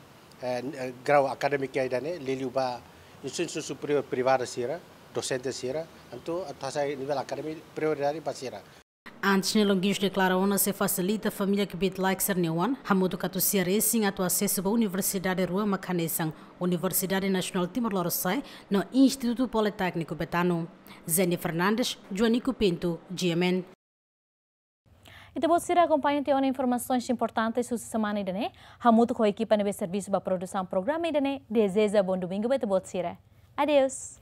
eh, grau akadémiku ida-ne'e, liuliu ba ensinu superiór privadu sira, dosente sira, entaun atu hasa'e nivel akadémiku prioridade ba sira. Antes ne'e, Longuinhos deklara ona sei fasilita família kbiit-laek sira-nia oan hamutuk atus sia resin atu asesu ba universidade rua mak hanesan Universidade Nasionál Timor Lorosa'e no Institutu Politékniku Betano. Zeni Fernandes, Joanico Pinto, G M N. Ita-boot sira akompaña tiha ona informasaun importante husi semana ida-ne'e, hamutuk ho ekipa ne'ebé servisu ba produsaun programa ida-ne'e, dezeja bom domingo ba ita-boot sira. Adeus.